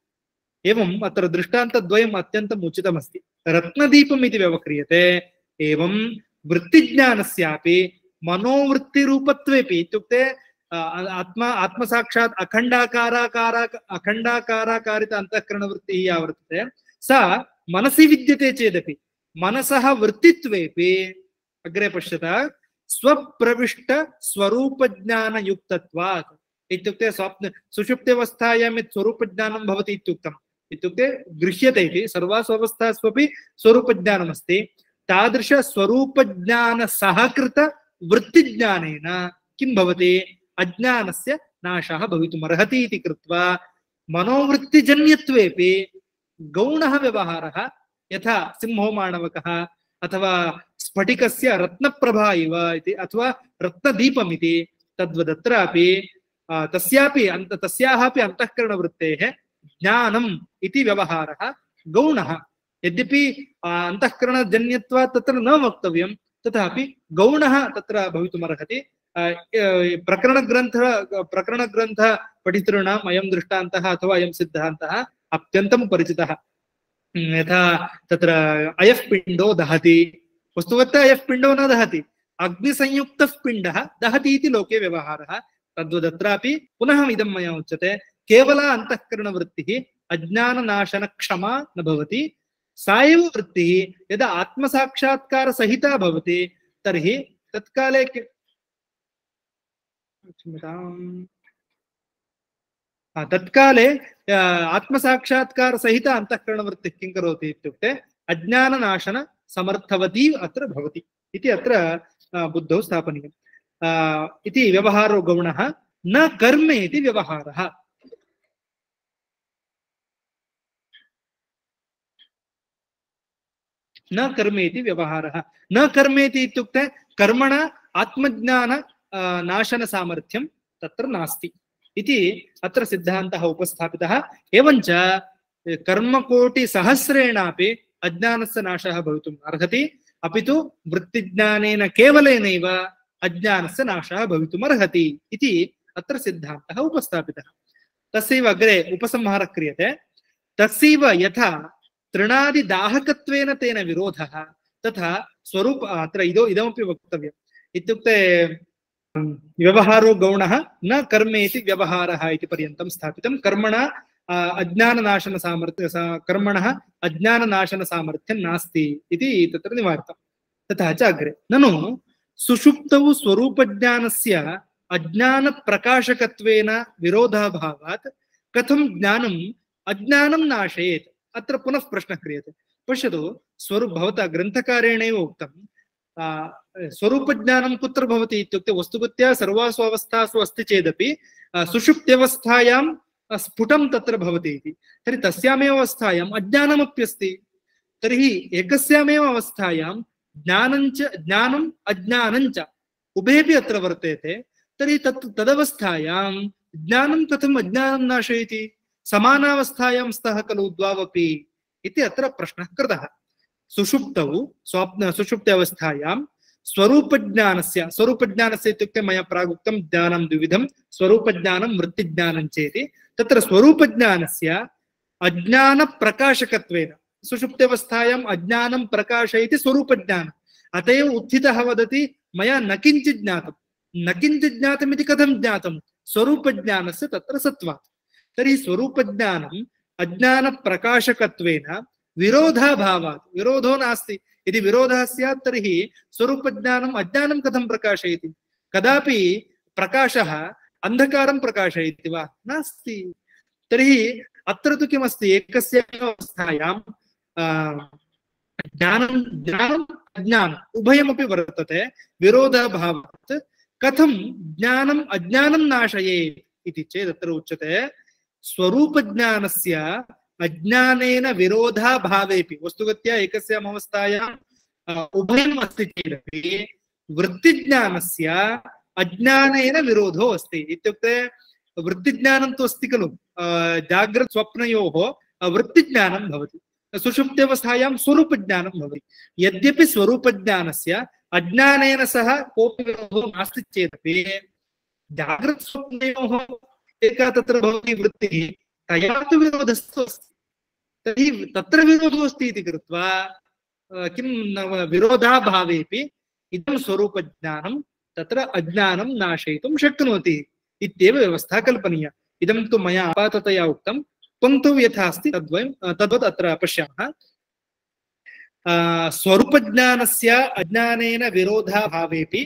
एवम् अत्र दृष्टान्तद्वयम् अत्यन्तम् उचितमस्ति। रत्नदीपम् इति व्यवह्रियते। एवं वृत्तिज्ञानस्यापि मनोवृत्तिरूपत्वेपि इत्युक्ते आत्मसाक्षात् अखण्डाकाराकारित अंतःकरणवृत्तिः या वर्तते सा मनसि विद्यते चेदपि मनसः वृत्तित्वेपि अग्रे पश्यत स्वप्रविष्ट स्वरूपज्ञानयुक्तत्वात्। इत्युक्ते सुषुप्त्यवस्थायां यत् स्वरूपज्ञानं भवति इत्युक्तम्, इत्युक्ते गृह्यते इति सर्वासु अवस्थास्वपि स्वरूपज्ञानमस्ति। तादृश स्वरूपज्ञान सहकृत वृत्तिज्ञानेन किं भवति, अज्ञानस्य नाशः भवितुमर्हति इति कृत्वा मनोवृत्तिजन्यत्वेपि गौणः व्यवहारः, यथा सिंहो माणवकः अथवा स्फटिकस्य रत्नप्रभा इव इति अथवा रत्नदीपमिति, तद्वदत्रापि तस्याः अपि अंतःकरणवृत्तेः ज्ञानम् इति व्यवहारः गौणः। यद्यपि अंतःकरणजन्यत्वात् तत्र न वक्तव्यं, तथापि गौणः तत्र भवितुमर्हति। प्रकरणग्रन्थ पठितॄणाम् अयं दृष्टान्तः अथवा अयं सिद्धान्तः अत्यन्तं परिचितः। यथा तत्र अयः पिण्डो दहति, वस्तुतः अयः पिण्डो न दहति, अग्निसंयुक्तः पिण्डः दहति इति लोके व्यवहारः। तद्वदत्रापि पुनः इदं मया उच्यते, केवला अंतःकरणवृत्तिः अज्ञाननाशनक्षमा न भवति। सा एव वृत्तिः यदा आत्मसाक्षात्कारसहिता भवति तर्हि तत्काले तत्काले आत्मसाक्षात्कारसहित अंतःकरणवृत्तिः किं करोति इत्युक्ते अज्ञाननाशन समर्थवती अत्र भवति इति अत्र बुद्धौ स्थापनीयम्। इति व्यवहारो गौणः, न कर्मेति व्यवहारः। न कर्मेति व्यवहारः। न कर्मेति इत्युक्ते कर्मण आत्मज्ञान नाशन सामर्थ्यं तत्र नास्ति इति अत्र सिद्धान्तः उपस्थापितः। एवञ्च कर्मकोटिसहस्रेणापि अज्ञानस्य नाशः भवितुम् अर्हति, अपि तु वृत्तिज्ञानेन केवलेनैव अज्ञानस्य नाशः भवितुमर्हति इति अत्र सिद्धान्तः उपस्थापितः। तस्यैव अग्रे उपसंहारः क्रियते। तस्यैव यथा तृणादिदाहकत्वेन तेन विरोधः तथा स्वरूप अत्र इदमपि वक्तव्यम्। इत्युक्ते व्यवहारो गौणः, न कर्मेति व्यवहारः इति पर्यन्तं स्थापितं। कर्मणः अज्ञाननाशनसामर्थ्यं नास्ति इति तत्र निवारितं। तथा च अग्रे ननु सुषुप्तौ स्वरूपज्ञानस्य अज्ञानप्रकाशकत्वेन विरोधाभावात् कथं ज्ञानम् अज्ञानं नाशयेत्। अत्र पुनः प्रश्नः क्रियते। पश्यतु, भवता ग्रन्थकारेणैव उक्तं स्वरूपज्ञानं कुत्र भवति इत्युक्ते वस्तुगत्या सर्वासु अवस्थासु अस्ति चेदपि सुषुप्त्यवस्थायां स्फुटं तत्र भवति इति। तर्हि तस्यामेव अवस्थायाम् अज्ञानमप्यस्ति। तर्हि एकस्यामेव अवस्थायां ज्ञानम् अज्ञानञ्च उभयपि अत्र वर्तेते। तर्हि तदवस्थायां ज्ञानं कथम् अज्ञानं नाशयति? समानावस्थायां स्तः खलु द्वावपि इति अत्र प्रश्नः कृतः। सुषुप्तौ सुषुप्त्यावस्थायां स्वरूपज्ञानस्य इत्युक्ते मया प्रागुक्तं ज्ञानं द्विविधं, स्वरूपज्ञानं वृत्तिज्ञानं चेति। तत्र स्वरूपज्ञानस्य अज्ञानप्रकाशकत्वेन सुषुप्त्यावस्थायाम् अज्ञानं प्रकाशयति स्वरूपज्ञानम्। अत एव उत्थितः वदति मया न किञ्चित् ज्ञातं। न किञ्चित् ज्ञातम् इति कथं ज्ञातं? स्वरूपज्ञानस्य तत्र सत्त्वात्। तर्हि स्वरूपज्ञानम् अज्ञानप्रकाशकत्वेन विरोधाभावात्, विरोधो नास्ति। यदि विरोधः स्यात् तर्हि स्वरूपज्ञानम् अज्ञानं कथं प्रकाशयति? कदापि प्रकाशः अंधकारं प्रकाशयति वा? नास्ति। तर्हि अत्र तु किमस्ति? एकस्यामेव अवस्थायां ज्ञानम् अज्ञानम् उभयमपि वर्तते। विरोधाभावात् कथं ज्ञानम् अज्ञानं नाशयेत् इति चेत् अत्र उच्यते स्वरूपज्ञानस्य अज्ञानेन विरोधाभावेपि, वस्तुगत्या एकस्याम् अवस्थायां उभयम् अस्ति चेदपि वृत्तिज्ञानस्य अज्ञानेन विरोधो अस्ति। इत्युक्ते वृत्तिज्ञानं तु अस्ति खलु, जाग्रत् स्वप्नयोः वृत्तिज्ञानं भवति, सुषुप्त्यवस्थायां स्वरूपज्ञानं भवति। यद्यपि स्वरूपज्ञानस्य अज्ञानेन सह कोऽपि विरोधो नास्ति चेदपि जाग्रत् स्वप्नयोः एका तत्र भवति वृत्तिः, तया तु विरोधस्तु अस्ति। तर्हि तत्र विरोधो अस्ति इति कृत्वा किं विरोधाभावेपि इदं स्वरूपज्ञानं तत्र अज्ञानं नाशयितुं शक्नोति इत्येव व्यवस्था कल्पनीया। इदं तु मया आपाततया उक्तं। पङ्क्तौ यथा अस्ति तद्वत् अत्र पश्यामः। स्वरूपज्ञानस्य अज्ञानेन विरोधाभावेपि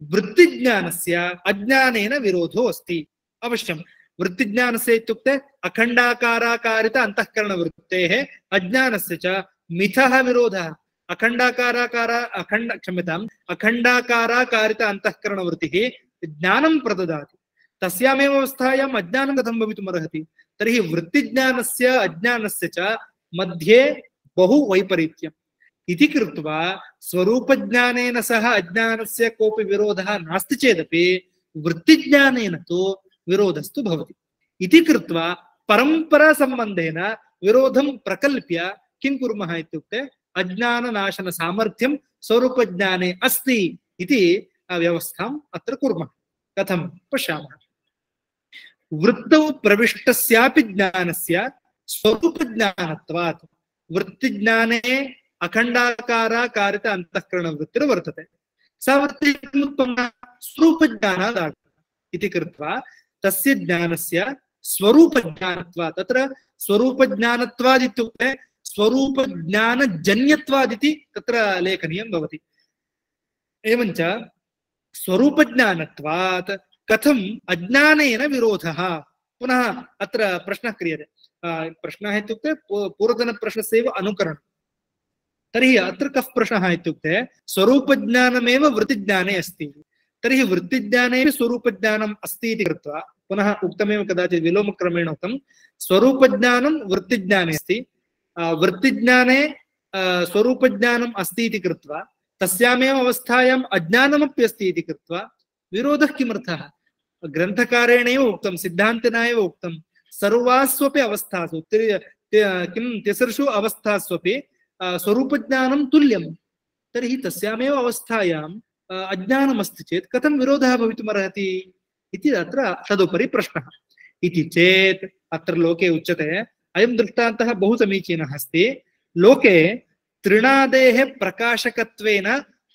वृत्तिज्ञानस्य अज्ञानेन विरोधो अस्ति। अवश्यं वृत्तिज्ञानस्य इत्युक्ते अखण्डाकाराकारित अन्तःकरणवृत्तेः, अज्ञानस्य च मिथः विरोधः। अखण्डाकाराकारित अन्तःकरणवृत्तिः ज्ञानं प्रददाति, तस्यामेव अवस्थायाम् अज्ञानं कथं भवितुमर्हति? तर्हि वृत्तिज्ञानस्य अज्ञानस्य च मध्ये बहु वैपरीत्यम् इति कृत्वा स्वरूपज्ञानेन सह अज्ञानस्य कोऽपि विरोधः नास्ति चेदपि वृत्तिज्ञानेन तु विरोधस्तु भवति। इति कृत्वा परम्परासम्बन्धेन विरोधं प्रकल्प्य किं कुर्मः इत्युक्ते अज्ञाननाशन सामर्थ्यं स्वरूपज्ञाने अस्ति इति व्यवस्थाम् अत्र कुर्मः। कथं पश्यामः। वृत्तौ प्रविष्टस्यापि ज्ञानस्य स्वरूपज्ञानत्वात् वृत्तिज्ञाने अखण्डाकाराकारित अन्तःकरणवृत्तिर्वर्तते। सा वृत्तिमुत्पन्ना स्वरूपज्ञानात् इति कृत्वा तस्य ज्ञानस्य स्वरूपज्ञानत्वात्, तत्र स्वरूपज्ञानत्वात् इत्युक्ते स्वरूपज्ञानजन्यत्वादिति तत्र लेखनीयं भवति। एवञ्च स्वरूपज्ञानत्वात् कथम् अज्ञानेन विरोधः? पुनः अत्र प्रश्नः क्रियते। प्रश्नः इत्युक्ते पूर्वतनप्रश्नस्यैव अनुकरणं। तर्हि अत्र कः प्रश्नः इत्युक्ते स्वरूपज्ञानमेव वृत्तिज्ञाने अस्ति, तर्हि वृत्तिज्ञाने स्वरूपज्ञानम् अस्ति इति कृत्वा, पुनः उक्तमेव कदाचित् विलोमक्रमेण उक्तं, स्वरूपज्ञानं वृत्तिज्ञाने अस्ति, वृत्तिज्ञाने स्वरूपज्ञानम् अस्ति इति कृत्वा तस्यामेव अवस्थायाम् अज्ञानमपि अस्ति इति कृत्वा विरोधः किमर्थः? ग्रन्थकारेणैव उक्तं, सिद्धान्तिना एव उक्तं, सर्वास्वपि अवस्थासु किं तिसृषु अवस्थास्वपि स्वरूपज्ञानं तुल्यं। तर्हि तस्यामेव अवस्थायाम् अज्ञानमस्ति चेत् कथं विरोधः भवितुमर्हति इति अत्र तदुपरि प्रश्नः। इति चेत् अत्र लोके उच्यते, अयं दृष्टान्तः बहु समीचीनः अस्ति। लोके तृणादेः प्रकाशकत्वेन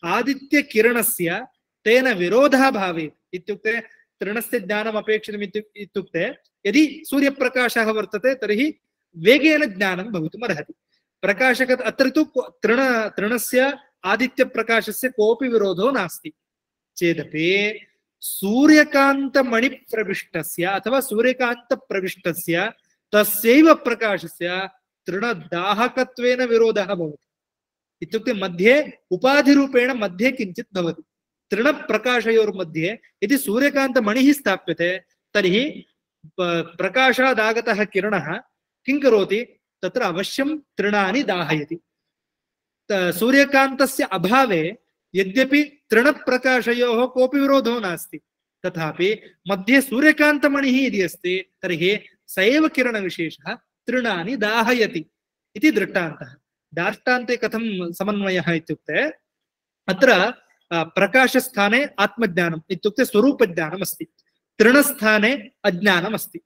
आदित्यकिरणस्य तेन विरोधः भवेत् इत्युक्ते तृणस्य ज्ञानम् अपेक्षितम् इत्युक्ते यदि सूर्यप्रकाशः वर्तते तर्हि वेगेन ज्ञानं भवितुमर्हति। प्रकाशक अत्र तु तृणस्य आदित्यप्रकाशस्य कोऽपि विरोधो नास्ति चेदपि सूर्यकान्तमणिप्रविष्टस्य अथवा सूर्यकान्तप्रविष्टस्य तस्यैव प्रकाशस्य तृणदाहकत्वेन विरोधः भवति। इत्युक्ते मध्ये उपाधिरूपेण मध्ये किञ्चित् भवति। तृणप्रकाशयोर्मध्ये यदि सूर्यकान्तमणिः स्थाप्यते तर्हि प्रकाशादागतः किरणः किं करोति, तत्र अवश्यं तृणानि दाहयति। सूर्यकान्तस्य अभावे यद्यपि तृणप्रकाशयोः कोऽपि विरोधो नास्ति, तथापि मध्ये सूर्यकान्तमणिः यदि अस्ति तर्हि स एव किरणविशेषः तृणानि दाहयति इति दृष्टान्तः। दाष्टान्ते कथं समन्वयः इत्युक्ते अत्र प्रकाशस्थाने आत्मज्ञानम् इत्युक्ते स्वरूपज्ञानम् अस्ति, तृणस्थाने अज्ञानम् अस्ति।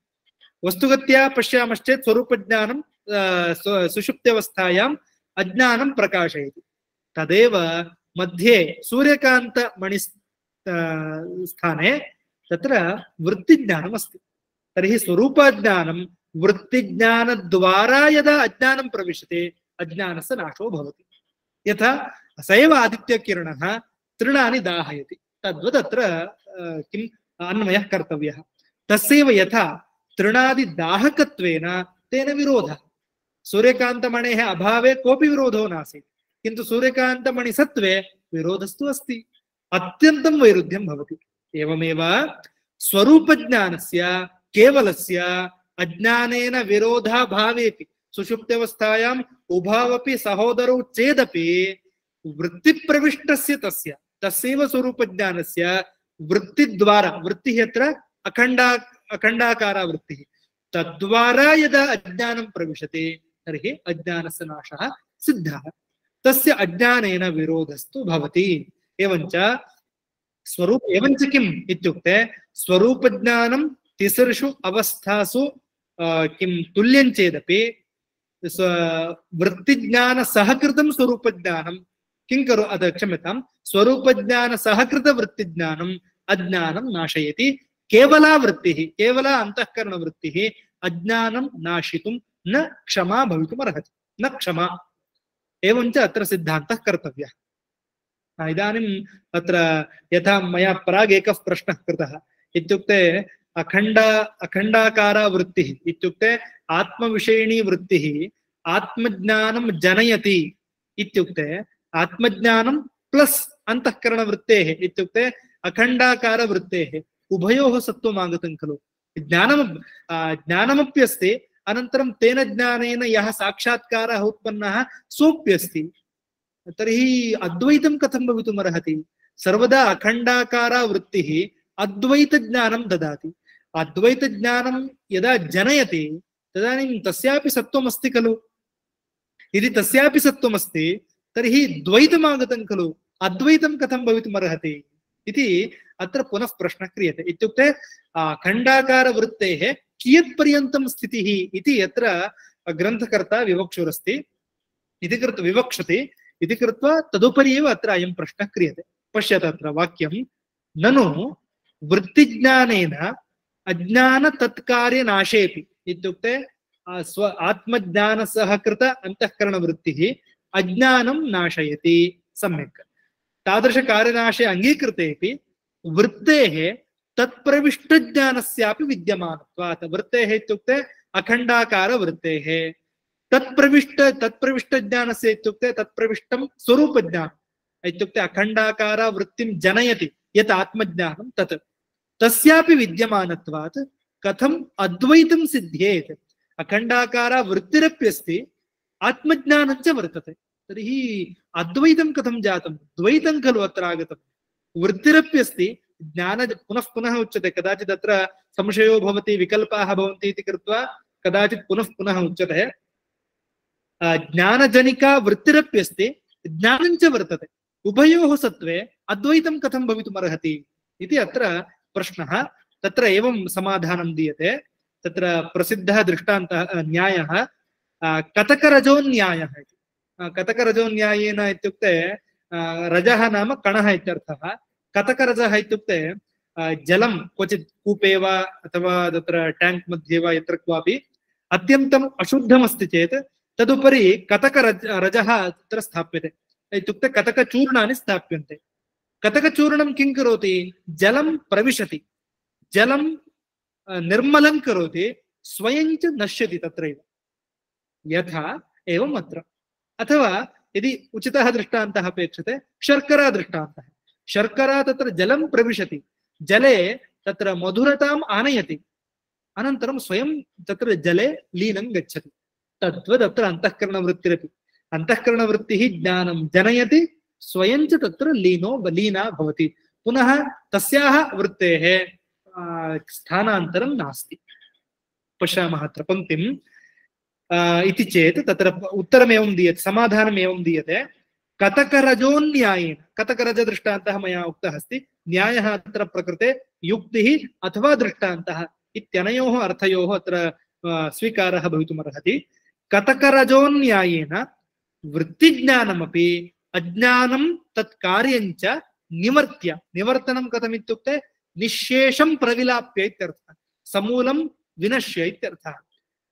वस्तुगत्या पश्यामश्चेत् स्वरूपज्ञानं सुषुप्त्यवस्थायाम् अज्ञानं प्रकाशयति। तदेव मध्ये सूर्यकान्तमणि स्थाने तत्र वृत्तिज्ञानम् अस्ति। तर्हि स्वरूपज्ञानं वृत्तिज्ञानद्वारा यदा अज्ञानं प्रविशते अज्ञानस्य नाशो भवति। यथा स एव आदित्यकिरणः तृणानि दाहयति, तद्वत् अत्र किम् अन्वयः कर्तव्यः। तस्यैव यथा तृणादिदाहकत्वेन तेन विरोधः। सूर्यकान्तमणेः अभावे कोऽपि विरोधो नासीत्, किन्तु सूर्यकान्तमणिसत्त्वे विरोधस्तु अस्ति, अत्यन्तं वैरुध्यं भवति। एवमेव स्वरूपज्ञानस्य केवलस्य अज्ञानेन विरोधाभावेपि सुषुप्त्यवस्थायाम् उभावपि सहोदरौ चेदपि वृत्तिप्रविष्टस्य तस्यैव स्वरूपज्ञानस्य वृत्तिद्वारा, वृत्तिः अत्र अखण्डाकारा वृत्तिः, तद्वारा यदा अज्ञानं प्रविशते तर्हि अज्ञानस्य नाशः सिद्धः। तस्य अज्ञानेन विरोधस्तु भवति। एवञ्च किम् इत्युक्ते स्वरूपज्ञानं तिसृषु अवस्थासु किं तुल्यं चेदपि वृत्तिज्ञानसहकृतं स्वरूपज्ञानं किं क्षम्यतां स्वरूपज्ञानसहकृतवृत्तिज्ञानं अज्ञानं नाशयति। केवला वृत्तिः, केवला अन्तःकरणवृत्तिः अज्ञानं नाशितुं न क्षमा भवितुमर्हति, न क्षमा। एवञ्च अत्र सिद्धान्तः कर्तव्यः। इदानीम् अत्र यथा मया प्राग् एकः प्रश्नः कृतः, इत्युक्ते अखण्डाकारा वृत्तिः इत्युक्ते आत्मविषयिणी वृत्तिः आत्मज्ञानं जनयति इत्युक्ते आत्मज्ञानं प्लस् अन्तःकरणवृत्तेः इत्युक्ते अखण्डाकारवृत्तेः उभयोः सत्त्वम् आगतं खलु। ज्ञानमप्यस्ति, अनन्तरं तेन ज्ञानेन यः साक्षात्कारः उत्पन्नः सोऽप्यस्ति। तर्हि अद्वैतं कथं भवितुमर्हति? सर्वदा अखण्डाकारा वृत्तिः अद्वैतज्ञानं ददाति। अद्वैतज्ञानं यदा जनयति तदानीं तस्यापि सत्त्वमस्ति खलु। यदि तस्यापि सत्त्वमस्ति तर्हि द्वैतमागतं खलु, अद्वैतं कथं भवितुमर्हति इति अत्र पुनः प्रश्नः क्रियते। इत्युक्ते अखण्डाकारवृत्तेः कियत्पर्यन्तं स्थितिः इति यत्र ग्रन्थकर्ता विवक्षुरस्ति विवक्षति इति कृत्वा तदुपरि एव अत्र अयं प्रश्नः क्रियते। पश्यत अत्र वाक्यं, ननु वृत्तिज्ञानेन अज्ञानतत्कार्यनाशेऽपि इत्युक्ते आत्मज्ञानसहकृत अन्तःकरणवृत्तिः अज्ञानं नाशयति। सम्यक् तादृशकार्यनाशे अङ्गीकृतेऽपि वृत्तेः तत्प्रविष्टज्ञानस्यापि विद्यमानत्वात्, वृत्तेः इत्युक्ते अखण्डाकारवृत्तेः तत्प्रविष्टज्ञानस्य इत्युक्ते तत्प्रविष्टं स्वरूपज्ञानम् इत्युक्ते अखण्डाकारा वृत्तिं जनयति यत् आत्मज्ञानं तत् तस्यापि विद्यमानत्वात् कथम् अद्वैतं सिद्ध्येत्। अखण्डाकारा वृत्तिरप्यस्ति, आत्मज्ञानं च वर्तते, तर्हि अद्वैतं कथं जातं? द्वैतं खलु अत्र आगतं। वृत्तिरप्यस्ति, ज्ञान पुनः पुनः उच्यते, कदाचित् अत्र संशयो भवति, विकल्पाः भवन्ति इति कृत्वा कदाचित् पुनः पुनः उच्यते। ज्ञानजनिका वृत्तिरप्यस्ति, ज्ञानं च वर्तते, उभयोः सत्त्वे अद्वैतं कथं भवितुमर्हति इति अत्र प्रश्नः। तत्र एवं समाधानं दीयते। तत्र प्रसिद्धः दृष्टान्तः न्यायः कतकरजोन्यायः इति। कतकरजोन्यायेन इत्युक्ते रजः नाम कणः इत्यर्थः। कतकरजः इत्युक्ते जलं क्वचित् कूपे वा अथवा तत्र ट्याङ्क् मध्ये वा यत्र क्वापि अत्यन्तम् अशुद्धमस्ति चेत् तदुपरि कतकरजः तत्र स्थाप्यते, इत्युक्ते कतकचूर्णानि स्थाप्यन्ते। कतकचूर्णं किं करोति? जलं प्रविशति, जलं निर्मलं करोति, स्वयं च नश्यति तत्रैव। यथा एवम् अत्र। अथवा यदि उचितः दृष्टान्तः अपेक्षते, शर्करा दृष्टान्तः। शर्करा तत्र जलं प्रविशति, जले तत्र मधुरताम् आनयति, अनन्तरं स्वयं तत्र जले लीनं गच्छति। तद्वत् अत्र अन्तःकरणवृत्तिरपि। अन्तःकरणवृत्तिः ज्ञानं जनयति, स्वयं च तत्र लीना भवति। पुनः तस्याः वृत्तेः स्थानान्तरं नास्ति। पश्यामः अत्र पङ्क्तिम् इति चेत् तत्र उत्तरमेवं दीयते, समाधानम् एवं दीयते। कतकरजोन्यायेन, कतकरजदृष्टान्तः मया उक्तः अस्ति, न्यायः अत्र प्रकृते युक्तिः अथवा दृष्टान्तः इत्यनयोः अर्थयोः अत्र स्वीकारः भवितुमर्हति। कतकरजोन्यायेन वृत्तिज्ञानमपि अज्ञानं तत्कार्यञ्च निवर्त्य, निवर्तनं कथमित्युक्ते निःशेषं प्रविलाप्य इत्यर्थः, समूलं विनश्य इत्यर्थः।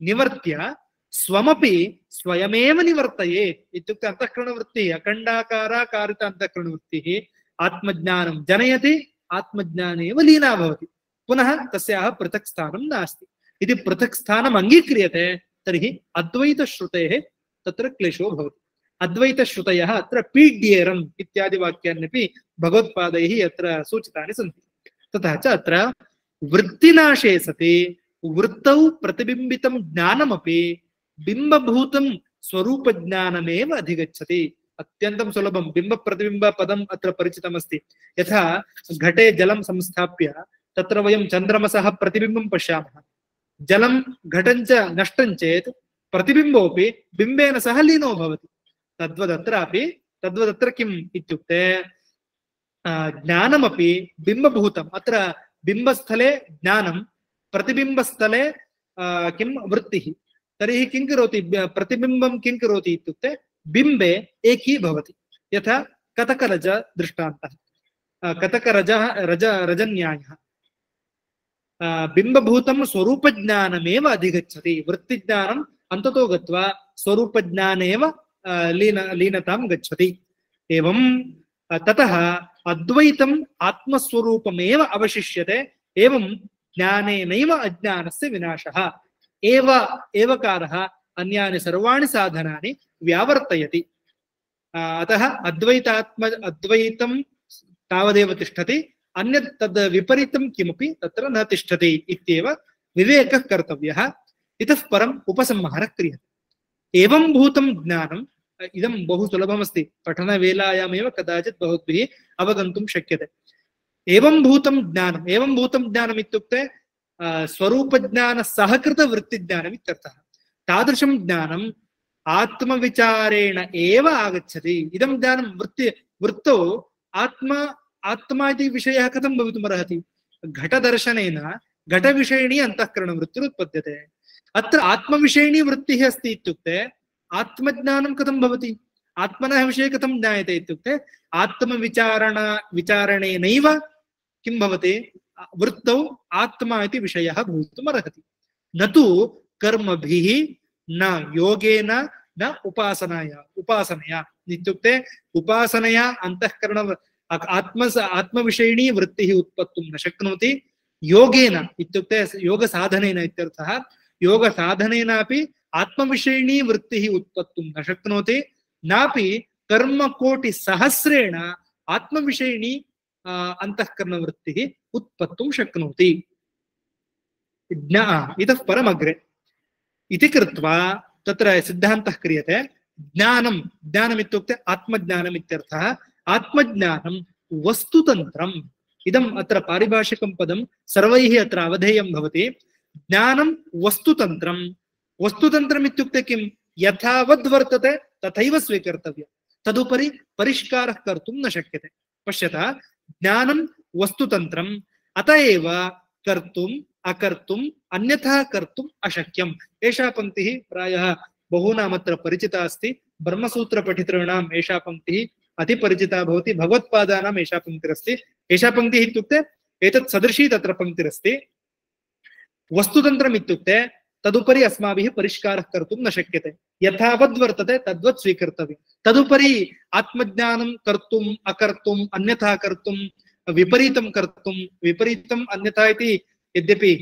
निवर्त्य स्वमपि स्वयमेव निवर्तयेत् इत्युक्ते अन्तःकरणवृत्तिः, अखण्डाकाराकारित अन्तःकरणवृत्तिः आत्मज्ञानं जनयति, आत्मज्ञाने एव लीना भवति। पुनः तस्याः पृथक् स्थानं नास्ति। यदि पृथक् स्थानम् अङ्गीक्रियते तर्हि अद्वैतश्रुतेः तत्र क्लेशो भवति। अद्वैतश्रुतयः अत्र पीड्येरम् इत्यादि वाक्यान्यपि भगवत्पादैः अत्र सूचितानि सन्ति। तथा च अत्र वृत्तिनाशे सति वृत्तौ प्रतिबिम्बितं ज्ञानमपि बिम्बभूतं स्वरूपज्ञानमेव अधिगच्छति। अत्यन्तं सुलभं। बिम्ब प्रतिबिम्ब पदम् अत्र परिचितमस्ति। यथा घटे जलं संस्थाप्य तत्र वयं चन्द्रमसः प्रतिबिम्बं पश्यामः, जलं घटं च नष्टं चेत् प्रतिबिम्बोऽपि बिम्बेन सह लीनो भवति। तद्वदत्र किम् इत्युक्ते ज्ञानमपि बिम्बभूतम्। अत्र बिम्बस्थले ज्ञानं, प्रतिबिम्बस्थले किं वृत्तिः। तर्हि किं करोति? प्रतिबिम्बं किं करोति इत्युक्ते बिम्बे एकी भवति। यथा कतकरज दृष्टान्तः, कतकरजः रजन्यायः बिम्बभूतं स्वरूपज्ञानमेव अधिगच्छति। वृत्तिज्ञानम् अन्ततो गत्वा स्वरूपज्ञानेव लीनतां गच्छति। एवं ततः अद्वैतम् आत्मस्वरूपमेव अवशिष्यते। एवं ज्ञानेनैव अज्ञानस्य विनाशः। एवकारः अन्यानि सर्वाणि साधनानि व्यावर्तयति। अतः अद्वैतं तावदेव तिष्ठति, अन्यत् तद् विपरीतं किमपि तत्र न तिष्ठति इत्येव विवेकः कर्तव्यः। इतः परम् उपसंहारः क्रियते। एवं भूतं ज्ञानम्, इदं बहु सुलभमस्ति, पठनवेलायामेव कदाचित् भवद्भिः अवगन्तुं शक्यते। एवं भूतं ज्ञानम्, एवं भूतं ज्ञानम् इत्युक्ते स्वरूपज्ञानसहकृतवृत्तिज्ञानम् इत्यर्थः। तादृशं ज्ञानम् आत्मविचारेण एव आगच्छति। इदं ज्ञानं वृत्तौ आत्मा इति विषयः कथं भवितुमर्हति? घटदर्शनेन घटविषयिणी अन्तःकरणवृत्तिरुत्पद्यते। अत्र आत्मविषयिणी वृत्तिः अस्ति इत्युक्ते आत्मज्ञानं कथं भवति? आत्मनः विषये कथं ज्ञायते इत्युक्ते विचारणेनैव किं भवति? वृत्तौ आत्मा इति विषयः भवितुमर्हति। न तु कर्मभिः, न योगेन, न उपासनया इत्युक्ते उपासनया अन्तःकरण आत्मविषयिणी वृत्तिः उत्पत्तुं न शक्नोति। योगेन इत्युक्ते योगसाधनेन इत्यर्थः। योगसाधनेनापि आत्मविषयिणी वृत्तिः उत्पत्तुं न शक्नोति। नापि कर्मकोटिसहस्रेण आत्मविषयिणी अन्तःकरणवृत्तिः उत्पत्तुं शक्नोति। इतः परमग्रे इति कृत्वा तत्र सिद्धान्तः क्रियते। ज्ञानम् इत्युक्ते आत्मज्ञानम् इत्यर्थः। आत्मज्ञानं वस्तुतन्त्रम्। इदम् अत्र पारिभाषिकं पदं सर्वैः अत्र अवधेयं भवति। ज्ञानं वस्तुतन्त्रम्। वस्तुतन्त्रम् इत्युक्ते किं? यथावद् वर्तते तथैव स्वीकर्तव्यं, तदुपरि परिष्कारः कर्तुं न शक्यते। पश्यतः, ज्ञानं वस्तुतन्त्रम्, अत एव कर्तुम् अकर्तुम् अन्यथा कर्तुम् अशक्यम्। एषा पङ्क्तिः प्रायः बहूनामत्र परिचिता अस्ति। ब्रह्मसूत्रपठितॄणाम् एषा पङ्क्तिः अतिपरिचिता भवति। भगवत्पादानाम् एषा पङ्क्तिरस्ति। एषा पङ्क्तिः इत्युक्ते एतत् सदृशी तत्र पङ्क्तिरस्ति। वस्तुतन्त्रम् इत्युक्ते तदुपरि अस्माभिः परिष्कारः कर्तुं न शक्यते। यथावद् वर्तते तद्वत् स्वीकर्तव्यं। तदुपरि आत्मज्ञानं कर्तुम् अकर्तुम् अन्यथा कर्तुं विपरीतं कर्तुं विपरीतम् अन्यथा इति यद्यपि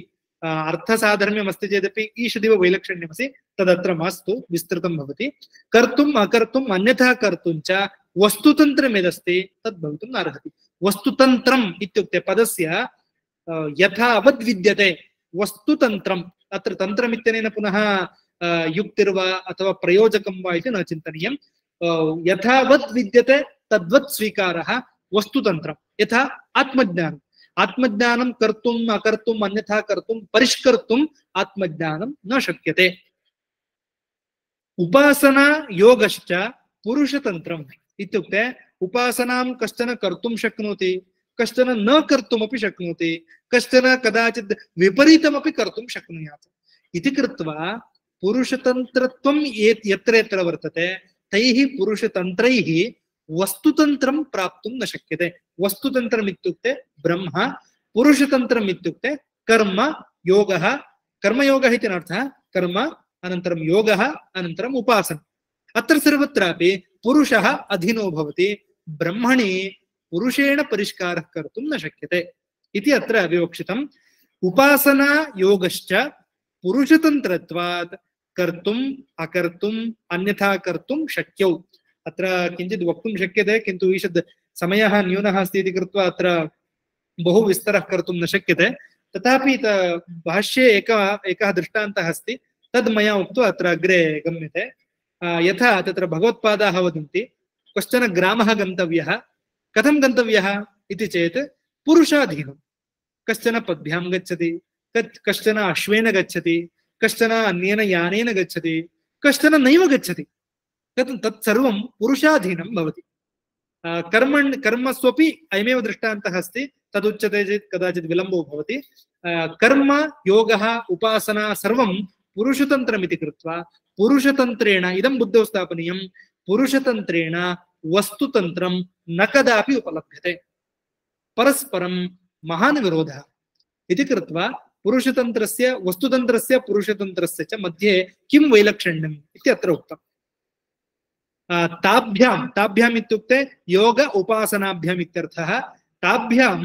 अर्थसाधर्म्यम् अस्ति चेदपि ईषदिव वैलक्षण्यमस्ति तदत्र मास्तु विस्तृतं भवति। कर्तुम् अकर्तुम् अन्यथा कर्तुं च वस्तुतन्त्रं यदस्ति तद् भवितुं नार्हति। वस्तुतन्त्रम् इत्युक्ते पदस्य यथावद् विद्यते वस्तुतन्त्रम्। अत्र तन्त्रमित्यनेन पुनः युक्तिर्वा अथवा प्रयोजकं वा इति न चिन्तनीयं। यथावद् विद्यते तद्वत् स्वीकारः वस्तुतन्त्रम्। यथा आत्मज्ञानम्, आत्मज्ञानं कर्तुम् अकर्तुम् अन्यथा कर्तुं परिष्कर्तुम् आत्मज्ञानं न शक्यते। उपासना योगश्च पुरुषतन्त्रम् इत्युक्ते उपासनां कश्चन कर्तुं शक्नोति, कश्चन न कर्तुमपि शक्नोति, कश्चन कदाचित् विपरीतमपि कर्तुं शक्नुयात् इति कृत्वा पुरुषतन्त्रत्वं यत्र यत्र वर्तते तैः पुरुषतन्त्रैः वस्तुतन्त्रं प्राप्तुं न शक्यते। वस्तुतन्त्रम् इत्युक्ते ब्रह्म, पुरुषतन्त्रम् इत्युक्ते कर्म योगः। कर्मयोगः इति अर्थः कर्म अनन्तरं योगः अनन्तरम् उपासना। अत्र सर्वत्रापि पुरुषः अधीनो भवति, ब्रह्मणि पुरुषेण परिष्कारः कर्तुं न शक्यते इति अत्र विवक्षितम्। उपासना योगश्च पुरुषतन्त्रत्वात् कर्तुम् अकर्तुम् अन्यथा कर्तुं शक्यौ। अत्र किञ्चित् वक्तुं शक्यते किन्तु ईषद् समयः न्यूनः अस्ति इति कृत्वा अत्र बहु विस्तरः कर्तुं न शक्यते। तथापि भाष्ये एकः दृष्टान्तः अस्ति तद् मया उक्त्वा अत्र अग्रे गम्यते। यथा तत्र भगवत्पादाः वदन्ति कश्चन ग्रामः गन्तव्यः। कथं गन्तव्यः इति चेत् पुरुषाधीनं। कश्चन पद्भ्यां गच्छति, कश्चन अश्वेन गच्छति, कश्चन अन्येन यानेन गच्छति, कश्चन नैव गच्छति। तत्सर्वं पुरुषाधीनं भवति। कर्मस्वपि अयमेव दृष्टान्तः अस्ति। तदुच्यते चेत् कदाचित् विलम्बो भवति। कर्म योगः उपासना सर्वं पुरुषतन्त्रमिति कृत्वा पुरुषतन्त्रेण इदं बुद्धौ स्थापनीयं। पुरुषतन्त्रेण वस्तुतन्त्रं न कदापि उपलभ्यते। परस्परं महान् विरोधः इति कृत्वा पुरुषतन्त्रस्य वस्तुतन्त्रस्य पुरुषतन्त्रस्य च मध्ये किं वैलक्षण्यम् इति अत्र उक्तम्। ताभ्याम् इत्युक्ते योग उपासनाभ्याम् इत्यर्थः। ताभ्यां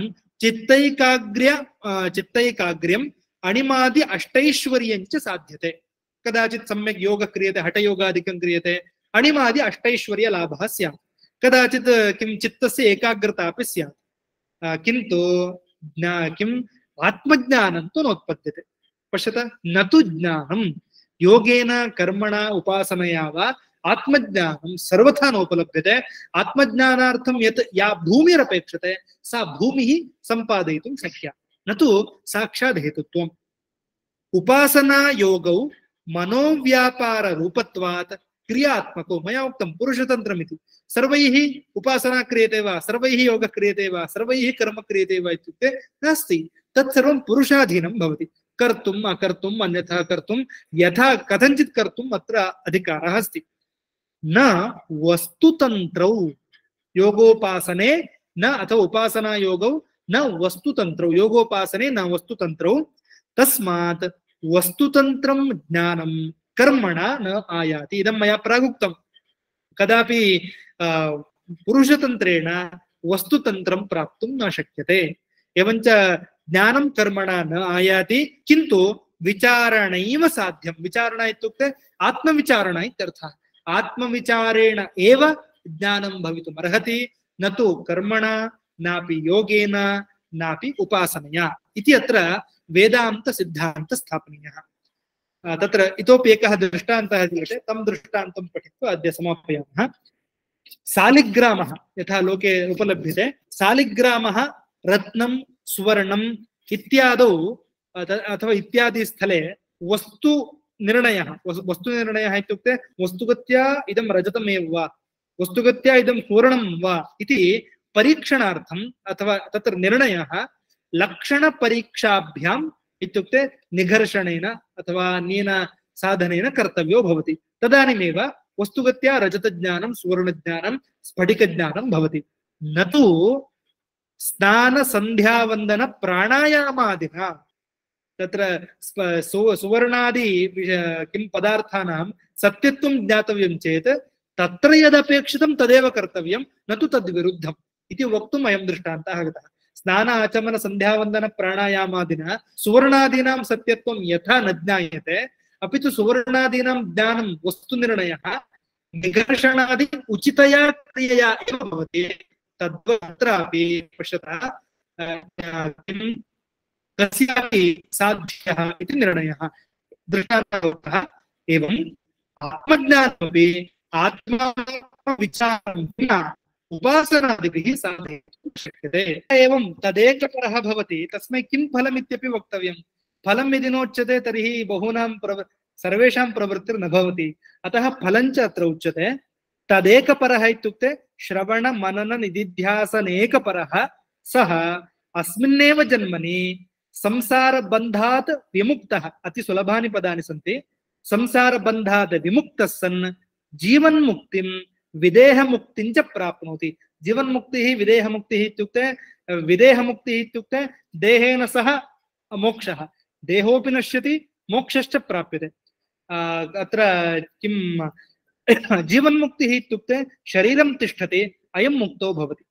चित्तैकाग्र्यम् अणिमादि अष्टैश्वर्यञ्च साध्यते। कदाचित् सम्यक् योगः क्रियते, हठयोगादिकं क्रियते, अणिमादि अष्टैश्वर्यलाभः स्यात्। कदाचित् किं चित्तस्य एकाग्रता अपि स्यात्, किन्तु किम् आत्मज्ञानं तु नोत्पद्यते। पश्यत, न तु ज्ञानं योगेन कर्मणा उपासनया वा आत्मज्ञानं सर्वथा नोपलभ्यते। आत्मज्ञानार्थं या भूमिरपेक्षते सा भूमिः सम्पादयितुं शक्या, न तु साक्षात् हेतुत्वम्। उपासना योगौ मनोव्यापार रूपत्वात् क्रियात्मको। मया उक्तं पुरुषतन्त्रमिति। सर्वैः उपासना क्रियते वा, सर्वैः योगः क्रियते वा, सर्वैः कर्म क्रियते वा इत्युक्ते नास्ति। तत्सर्वं पुरुषाधीनं भवति। कर्तुम् अकर्तुम् अन्यथा कर्तुं यथा कथञ्चित् कर्तुम् अत्र अधिकारः अस्ति। न वस्तुतन्त्रौ योगोपासने न अथवा उपासना योगौ न वस्तुतन्त्रौ योगोपासने न वस्तुतन्त्रौ। तस्मात् वस्तुतन्त्रं ज्ञानं कर्मणा न आयाति। इदं मया प्रागुक्तं। कदापि पुरुषतन्त्रेण वस्तुतन्त्रं प्राप्तुं न शक्यते। एवञ्च ज्ञानं कर्मणा न आयाति, किन्तु विचारणैव साध्यं। विचारणा इत्युक्ते आत्मविचारणा इत्यर्थः। आत्मविचारेण एव ज्ञानं भवितुम् अर्हति, न तु कर्मणा नापि योगेन नापि उपासनया इति अत्र वेदान्त सिद्धान्त स्थापनीयः। तत्र इतोपि एकः दृष्टान्तः दीयते, तं दृष्टान्तं पठित्वा अद्य समापयामः। सालिग्रामः यथा लोके उपलभ्यते, सालिग्रामः रत्नं सुवर्णम् इत्यादौ अथवा इत्यादि स्थले वस्तुनिर्णयः इत्युक्ते वस्तुगत्या इदं रजतमेव वा, वस्तुगत्या इदं सुवर्णं वा इति परीक्षणार्थम् अथवा तत्र निर्णयः लक्षणपरीक्षाभ्याम् इत्युक्ते निघर्षणेन अथवा अन्येन साधनेन कर्तव्यो भवति। तदानीमेव वस्तुगत्या रजतज्ञानं सुवर्णज्ञानं स्फटिकज्ञानं भवति। न तु स्नानसन्ध्यावन्दन प्राणायामादिना तत्र सुवर्णादि किं पदार्थानां सत्यत्वं ज्ञातव्यं चेत् तत्र यदपेक्षितं तदेव कर्तव्यं, न तु तद्विरुद्धम् इति वक्तुम् अयं दृष्टान्तः गतः। स्नान आचमन संध्यावन्दन प्राणायामादिना सुवर्णादीनां सत्यत्वं यथा न ज्ञायते, अपि तु सुवर्णादीनां ज्ञानं वस्तुनिर्णयः निघर्षणादि उचितया क्रियया एव भवति। तद्वत्रापि पश्यतः कस्यापि साध्यः इति निर्णयः दृष्टान्तः। एवम् आत्मज्ञानमपि आत्मविचारं विना उपासनादिभिः साधयितुं शक्यते। एवं तदेकपरः भवति, तस्मै किं फलमित्यपि वक्तव्यं। फलं यदि नोच्यते तर्हि बहूनां सर्वेषां प्रवृत्तिर्न भवति। अतः फलञ्च अत्र उच्यते। तदेकपरः इत्युक्ते श्रवण मनन निदिध्यासनेकपरः सः अस्मिन्नेव जन्मनि संसारबन्धात् विमुक्तः। अति सुलभानि पदानि सन्ति। संसारबन्धात् विमुक्तः सन् जीवन्मुक्तिं विदेहमुक्तिं च प्राप्नोति। जीवन्मुक्तिः विदेहमुक्तिः इत्युक्ते विदेहमुक्तिः इत्युक्ते देहेन सह मोक्षः, देहोऽपि नश्यति मोक्षश्च प्राप्यते। अत्र किं जीवन्मुक्तिः इत्युक्ते शरीरं तिष्ठति अयं मुक्तो भवति।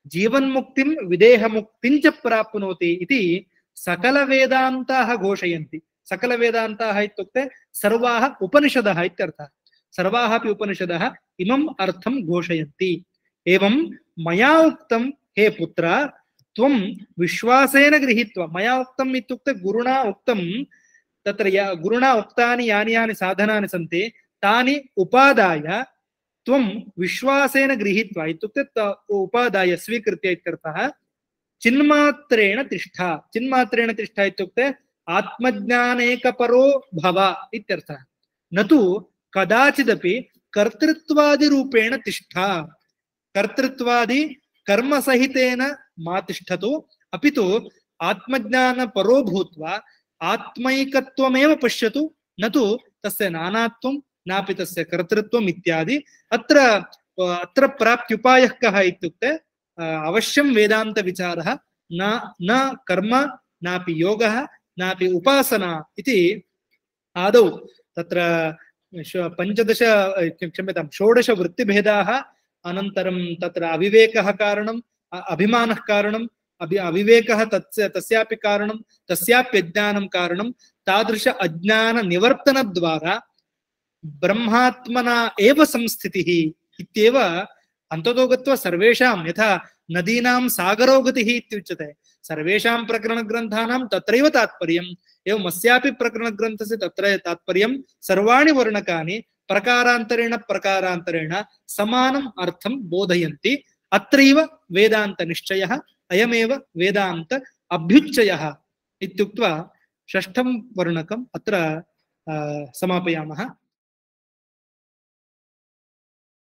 जीवन्मुक्तिं विदेहमुक्तिं च प्राप्नोति इति सकलवेदान्ताः घोषयन्ति। सकलवेदान्ताः इत्युक्ते सर्वाः उपनिषदः इत्यर्थः। सर्वाः अपि उपनिषदः इमम् अर्थं घोषयन्ति। एवं मया उक्तं हे पुत्र त्वं विश्वासेन गृहीत्वा, मया उक्तम् इत्युक्ते गुरुणा उक्तं, तत्र गुरुणा उक्तानि यानि यानि साधनानि सन्ति तानि उपादाय त्वं विश्वासेन गृहीत्वा इत्युक्ते उपादाय स्वीकृत्य इत्यर्थः। चिन्मात्रेण तिष्ठा। चिन्मात्रेण तिष्ठा इत्युक्ते आत्मज्ञानेकपरो भव इत्यर्थः। न तु कदाचिदपि कर्तृत्वादिरूपेण तिष्ठा। कर्तृत्वादि कर्मसहितेन मा तिष्ठतु, अपि तु आत्मज्ञानपरो भूत्वा आत्मैकत्वमेव पश्यतु, न तु तस्य नानात्वं नापि तस्य कर्तृत्वम् इत्यादि। अत्र प्राप्त्युपायः कः इत्युक्ते अवश्यं वेदान्तविचारः, न कर्म नापि योगः नापि उपासना इति। आदौ तत्र 15 वृत्तिभेदाः, अनन्तरं तत्र अविवेकः कारणम्, अभिमानः कारणम्, अविवेकः तस्यापि कारणं, तस्याप्यज्ञानं कारणं। तादृश अज्ञाननिवर्तनद्वारा ब्रह्मात्मना एव संस्थितिः इत्येव अन्ततो गत्वा सर्वेषां, यथा नदीनां सागरो गतिः इत्युच्यते, सर्वेषां प्रकरणग्रन्थानां तत्रैव तात्पर्यम्। एवम् अस्यापि प्रकरणग्रन्थस्य तत्र तात्पर्यं सर्वाणि वर्णकानि प्रकारान्तरेण प्रकारान्तरेण समानम् अर्थं बोधयन्ति। अत्रैव वेदान्तनिश्चयः, अयमेव वेदान्त अभ्युच्चयः इत्युक्त्वा षष्ठं वर्णकम् अत्र समापयामः।